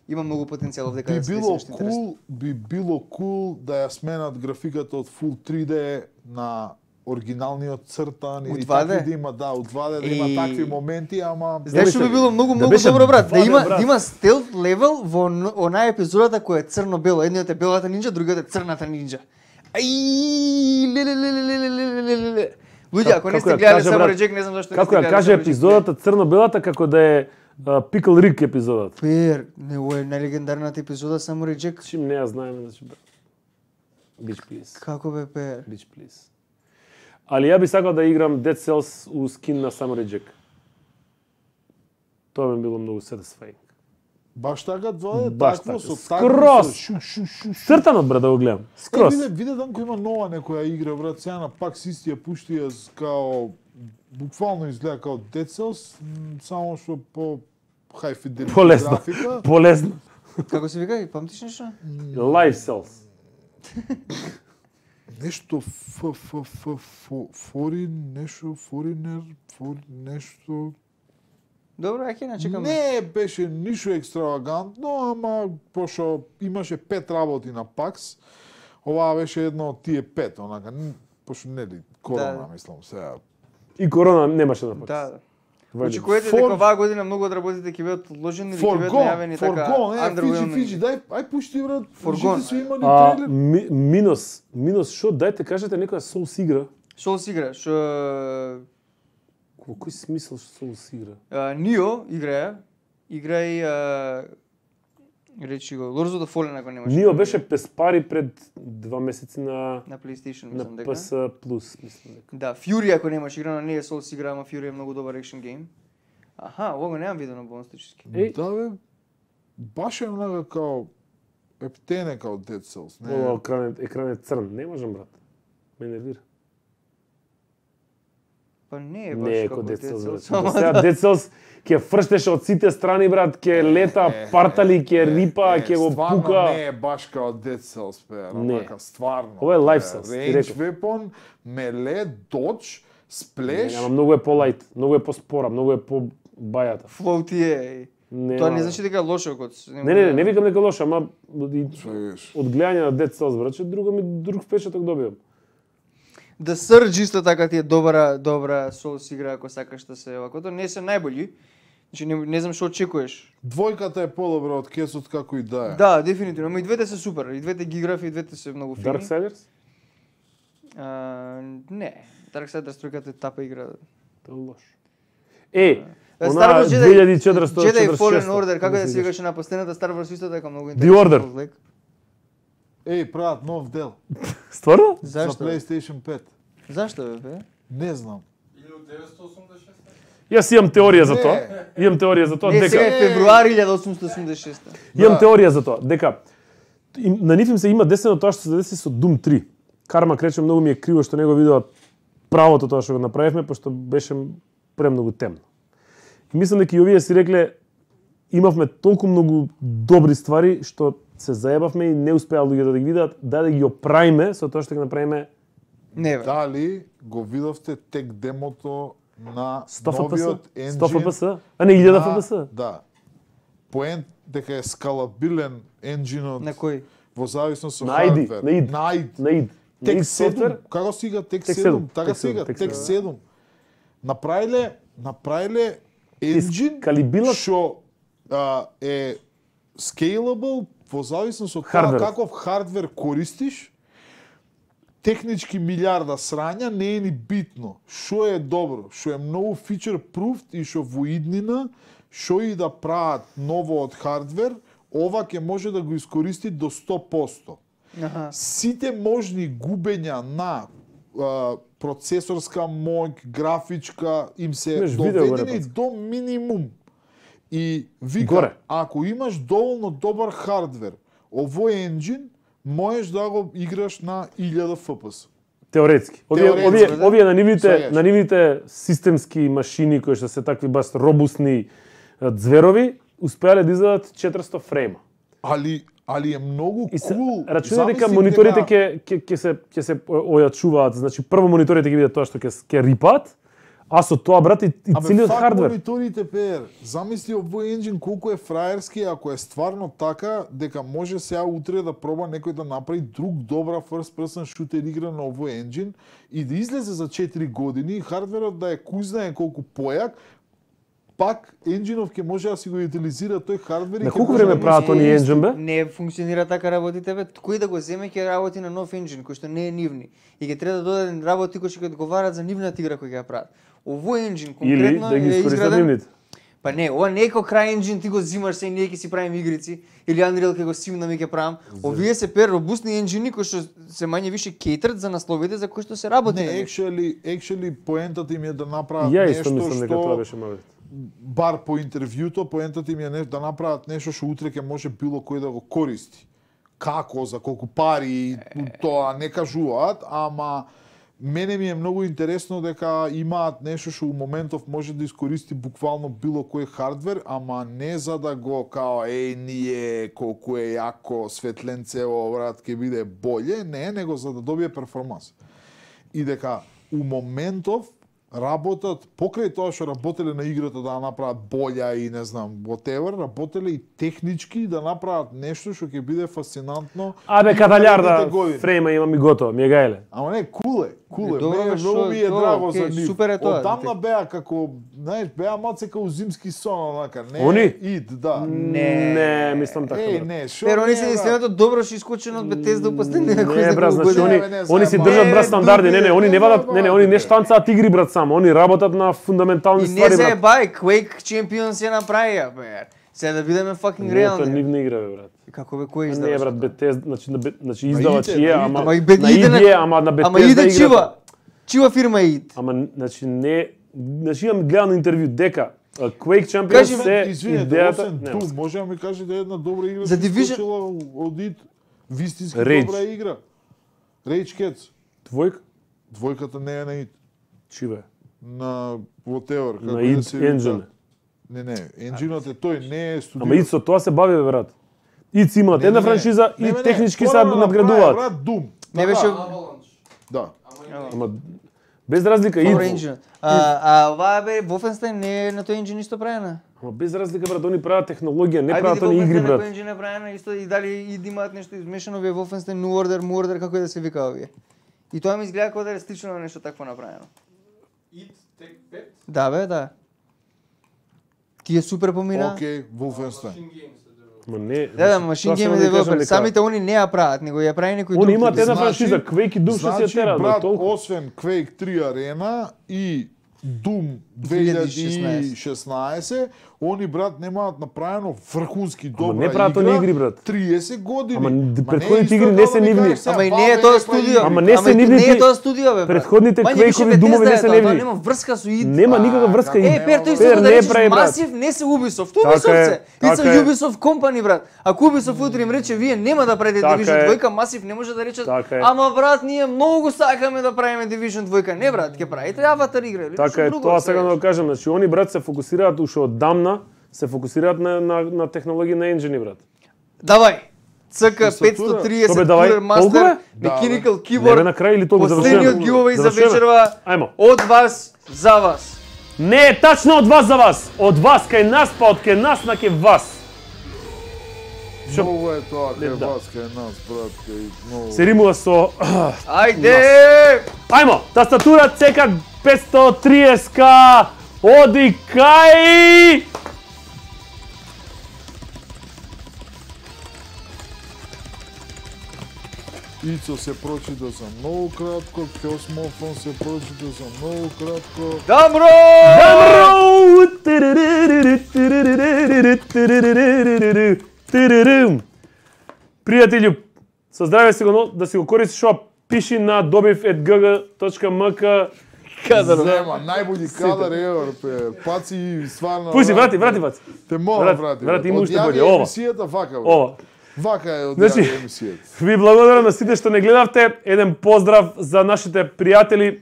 Има многу потенцијал дека би било cool, би било cool да ја сменат графиката од full 3D на оригиналниот цртан или такви да има у 2D да има такви моменти, ама знаеш што би било многу добро брат, да има стелт левел во онаа епизодата која е црно-бело, едниот е белата нинџа, другиот е црната нинџа. Ај леле. Луѓе, ако не сте гледале Samurai Jack, не знам зашто не сте гледале. Како ја каже епизодата црно-белата како да е Pickle Rick епизодата. Пер, не е најлегендарната епизода Samurai Jack. Чим не ја знаеме, значи Bitch please. Како бе Пер? Bitch please. Али ја би сакал да играм Dead Cells у скин на Samurai Jack. Тоа би било многу satisfying. Баш така, тоа е такво со скрос. Цртано брат да го гледам. Скрос. Виде данко има нова некоја игра брат, сега на пак си ја пушти као буквално изгледа као Dead Cells, само што по high fidelity графика. Полесно. Како се вика? Памтиш нешто? Live Cells. Нешто Foreigner, нешто. Добро, ќе начекаме. Не беше ништо екстравагантно, ама пошто имаше 5 работи на PAX, оваа беше едно од тие 5, онака, пошто нели корона, мислам, сега. И корона немаше на PAX. Да. Очекувате дека оваа година многу од работите ќе бидат одложени или ќе бидат најавени така underwhelming. Фиджи, ај пушти брат, Форгон се имали трейлер. Минус шо, дајте кажете некоја Souls игра. Souls игра, што Во кој смисол Souls игра? Нио играј речи го, Lords of the Fallen ако немаш. Нио беше без пари пред 2 месеци на PlayStation, мислам дека. На PS Plus, мислам дека. Да, Fury ако немаш играно, не е Souls игра, ама Fury е многу добар екшн гейм. Аха, ова го немам видено бонстички. Да бе, баш е много као ептене као Dead Cells. Ова екран е црн, не можам брат. Ме нервира. Па не е баш како Dead Cells. Сега Dead Cells ќе фрштеше од сите страни брат, ќе лета, партали, ќе рипа, ќе го пука. Стварно не е баш као Dead Cells, онака стварно. Ова е Live Cells, Range weapon, melee, dodge, splash. Ама многу е по-лајт, многу е по-спора, многу е по-бајата. Флоути е. Тоа не значи дека е лошо код. Не викам дека е лошо, ама од гледање на Dead Cells брат, друг впечаток добивам. The Surge исто така ти е добра Souls игра ако сакаш да се овакото, не се најбољи. Значи не знам што очекуваш. Двојката е подобра од Кесот како и да е. Да, дефинитивно, ама и двете се супер, и двете ги играв и двете се многу фини. Darksiders? Не, Darksiders тројката е тапа игра. Тоа е лош. Она 2400 Jedi Fallen Order, како да се викаше на последната Star Wars исто така многу интересно. The Order. Прават нов дел. Стварно? За PlayStation 5. Зашто бе? Не знам. 1986? Јас имам теорија за тоа. Имам теорија за тоа дека сега е февруари 1886. Имам теорија за тоа дека на нив им се има десено тоа што се деси со Doom 3. Карма крече многу ми е криво што не го видува правото тоа што го направивме, пошто беше премногу темно. И мислам дека и овие си рекле имавме толку многу добри ствари што се заебавме и не успеа луѓето да ги видат, да ги оправиме со тоа што ќе направиме. Не бе. Дали го видовте тек демото на новиот енджин? 100 FPS? А не 1000 FPS? Да. Поент дека е скалабилен енджинот. На кој? Во зависност од хардвер. На id. Тек 7, како сега Тек 7? Така сега Тек 7. Направиле енджин што е scalable во зависност од тоа каков хардвер користиш. Технички милиарда срања не е ни битно. Што е добро, што е многу feature proofed и што во иднина, што и да прават ново од хардвер, ова ќе може да го искористи до 100%. Сите можни губења на процесорска моќ, графичка, им се доведени до минимум. И вика, ако имаш доволно добар хардвер, овој енджин, можеш да го играш на 1000 FPS. Теоретски. Овие на нивните системски машини кои што се такви баш робусни зверови, успеале да издаат 400 фрейма. Али али е многу кул. Рачунај дека мониторите ќе се ојачуваат, значи прво мониторите ќе бидат тоа што ќе рипат, а со тоа брат и целиот хардвер. Мониторите пер. Замисли овој енџин колку е фраерски, ако е стварно така дека може сега утре да проба некој да направи друг добра first person shooter игра на овој енџин и да излезе за 4 години, хардверот да е кој знае колку појак, пак енџинов ќе може да си го утилизира тој хардвер. На колку време прават они енџин бе? Не функционира така работите бе. Кој да го земе ќе работи на нов енџин кој што не е нивни и ќе треба да дојдат работи кои ќе одговарат за нивната игра кој ќе ја прават. Овој енџин конкретно или да ги искористат нивните. Па не, ова не е како крај енџин ти го зимаш се и ние ќе си правиме игрици или Unreal ќе го симнаме и ќе правам. Овие се пер робустни енџини кои што се мање више кейтерат за насловите за кои што се работи. Не, actually поентата им е да направат нешто што бар по интервјуто, поентата им е да направат нешто што утре ќе може било кој да го користи. Како, за колку пари, тоа не кажуваат, ама мене ми е многу интересно дека имаат нешто што у моментов може да искористи буквално било кој хардвер, ама не за да го као ние колку е јако светленцево брат ќе биде боле, не, него за да добие перформанс. И дека у моментов работат покрај тоа што работеле на играта да направат болја и не знам whatever, работеле и технички да направат нешто што ќе биде фасцинантно. Абе каталјарда фрейма имам и готово, ми е гајле. Ама не, куле. Добро, многу ми е драго за нив. Супер е тоа. Одамна беа како, знаеш, беа малце како зимски сон, онака, не. Они? Ид, да. Не, мислам така. Не, шо? Пер, они се единственото добро што искочено од Bethesda у последните кои Не, брат, значи они си не, држат брат стандарди. Не, они не вадат, они не штанцаат игри брат само, они работат на фундаментални ствари брат. И не се брат. Quake Champions ја направија, бе. Сега да бидеме fucking реални. Тоа нивна игра бе брат. Како бе, кој издава? Не брат, Bethesda, значи издавач е, ама на ИД, ама на Bethesda ама иде чива фирма ид. Ама значи не, значи имам гледано интервју дека Quake Champions се идејата. Doom, може да ми кажете една добра игра за Division од ид, вистински Rage. добра игра. Rage Cats. Двојка? Двојката не е на ид. Чи бе? На whatever, На ид енџин. Не, енџинот е тој, не е студио. Ама ид со тоа се бави бе брат. Ид си имаат една франшиза и технички се надградуваат. Брат, Doom. Не беше Да. Ама без разлика ид. Ова бе Wolfenstein не е на тој енџин исто правена. Ама без разлика брат, они прават технологија, не прават они игри брат. Ајде енџин е правена исто и дали ид имаат нешто измешано вие Wolfenstein New Order, Murder, како и да се вика овие. И тоа ми изгледа како да е слично на нешто такво направено. Id Take 5? Да бе, да. Тие супер помина. Океј, Wolfenstein. Ма не. Да, Machine Game Developer, самите они не ја прават, него ја прави некој друг. Они имаат една франшиза, Quake и Doom што се тера, брат, толку. освен Quake 3 Arena и Doom 2016, они брат немаат направено врхунски добра игра. Не прават они игри брат. 30 години. Ама претходните игри не се нивни. Ама и не е тоа студио. Ама не се нивни. Не е тоа студио бе. Претходните Quake-ови Doom-ови не се нивни. Нема врска со ид. Нема никаква врска. Пер, тој се да речеш Масив, не се Ubisoft. Ubisoft се. Ти се Ubisoft Company брат. Ако Ubisoft утре им рече вие нема да правите Division 2, Масив не може да речат. Ама брат, ние многу сакаме да правиме Division 2. Не брат, ќе правите Аватар игра. Така е, тоа сега да кажам, значи они брат се фокусираат уште одамна, се фокусираат на технологија на енџини брат. Давај. ЦК 530 Cooler Master Mechanical Keyboard. Не на крај или тоа го завршуваме? Последниот giveaway за вечерва. Ајмо. Од вас за вас. Не е тачно од вас за вас. Од вас кај нас, па од кај нас на кај вас. Много е тоа кај вас, кај нас, брат, кај много. Се римува со Ајде! Ајмо, тастатура CK 530K. Оди кај Ицо се прочита за многу кратко, Космофон се прочита за многу кратко. Дамро! Пријателju, со здраве си го да си го користиш ова, пиши на dobivgg.mk. Кадар, нема, најбољи кадар евер, паци стварно. Пуси, врати. Те молам, врати. Врати, има уште боље, ова. Емисијата вака, бе. Ова. Вака е од значи, емисијата. Ви благодарам на сите што не гледавте. Еден поздрав за нашите пријатели,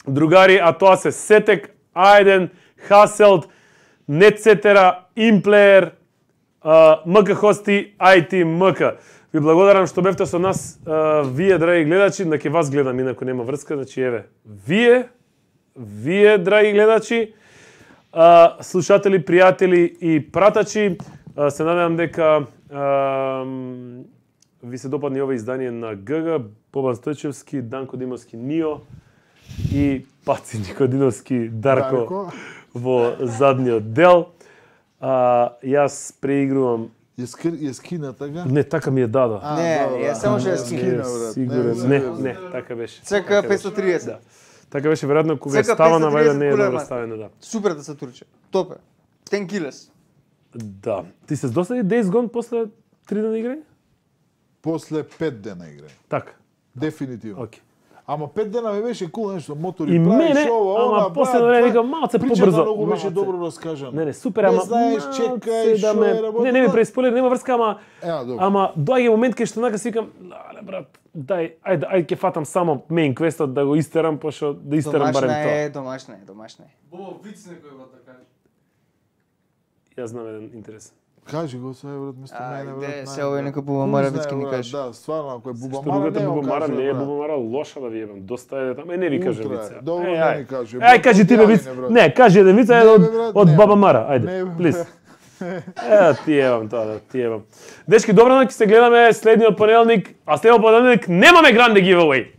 другари, а тоа се Сетек, Ајден, Хаселд, Нетсетера, Имплеер, МК Хости, IT МК. Ви благодарам што бевте со нас, вие, драги гледачи, на ке вас гледам, инако нема врска, значи еве, вие, драги гледачи, слушатели, пријатели и пратачи, се надевам дека ви се допадне ова издание на ГГ, Бобан Стојчевски, Данко Димовски, Нио и Паци Никодиновски, Дарко во задниот дел. Јас преигрувам. Ја скина така? Не, така ми е дадо. Не, ја само што ја скина. Сигурен, не, така беше. ЦК 530. Да. Така беше веројатно кога е ставана, вајде не е добро ставено, да. Супер да се турче. Топе. 10 килес. Да. Ти се досади Days Gone после 3 дена играње? После 5 дена играње. Така. Дефинитивно. Океј. Ама 5 дена ми беше кул нешто, мотори и правиш мене, ова, ама после време викам малце побрзо. Причата многу беше добро раскажано. Не, супер, ама знаеш, чекај, да ме, не ми преспойлер, нема врска, ама доаѓа момент кај што нака си викам, леле брат, ајде ќе фатам само main quest-от да го истерам, пошто да истерам барем тоа. Домашна е. Бо виц некој го да каже. Јас знам еден интересен. Кажи го сега брат, место мене брат. Се овој некој Бубамара вицки ни каже. Да, стварно, ако е Бубамара, Бубамара не е Бубамара лоша да ви ебам. Доста е таму. Не ви кажа вица. Добро не ми кажи. Ај кажи ти виц. Не, кажи еден виц од Баба Мара. Ајде, плиз. Ти ебам тоа, ти ебам. Дечки, добро ќе се гледаме следниот понеделник, а следниот понеделник немаме гранде giveaway.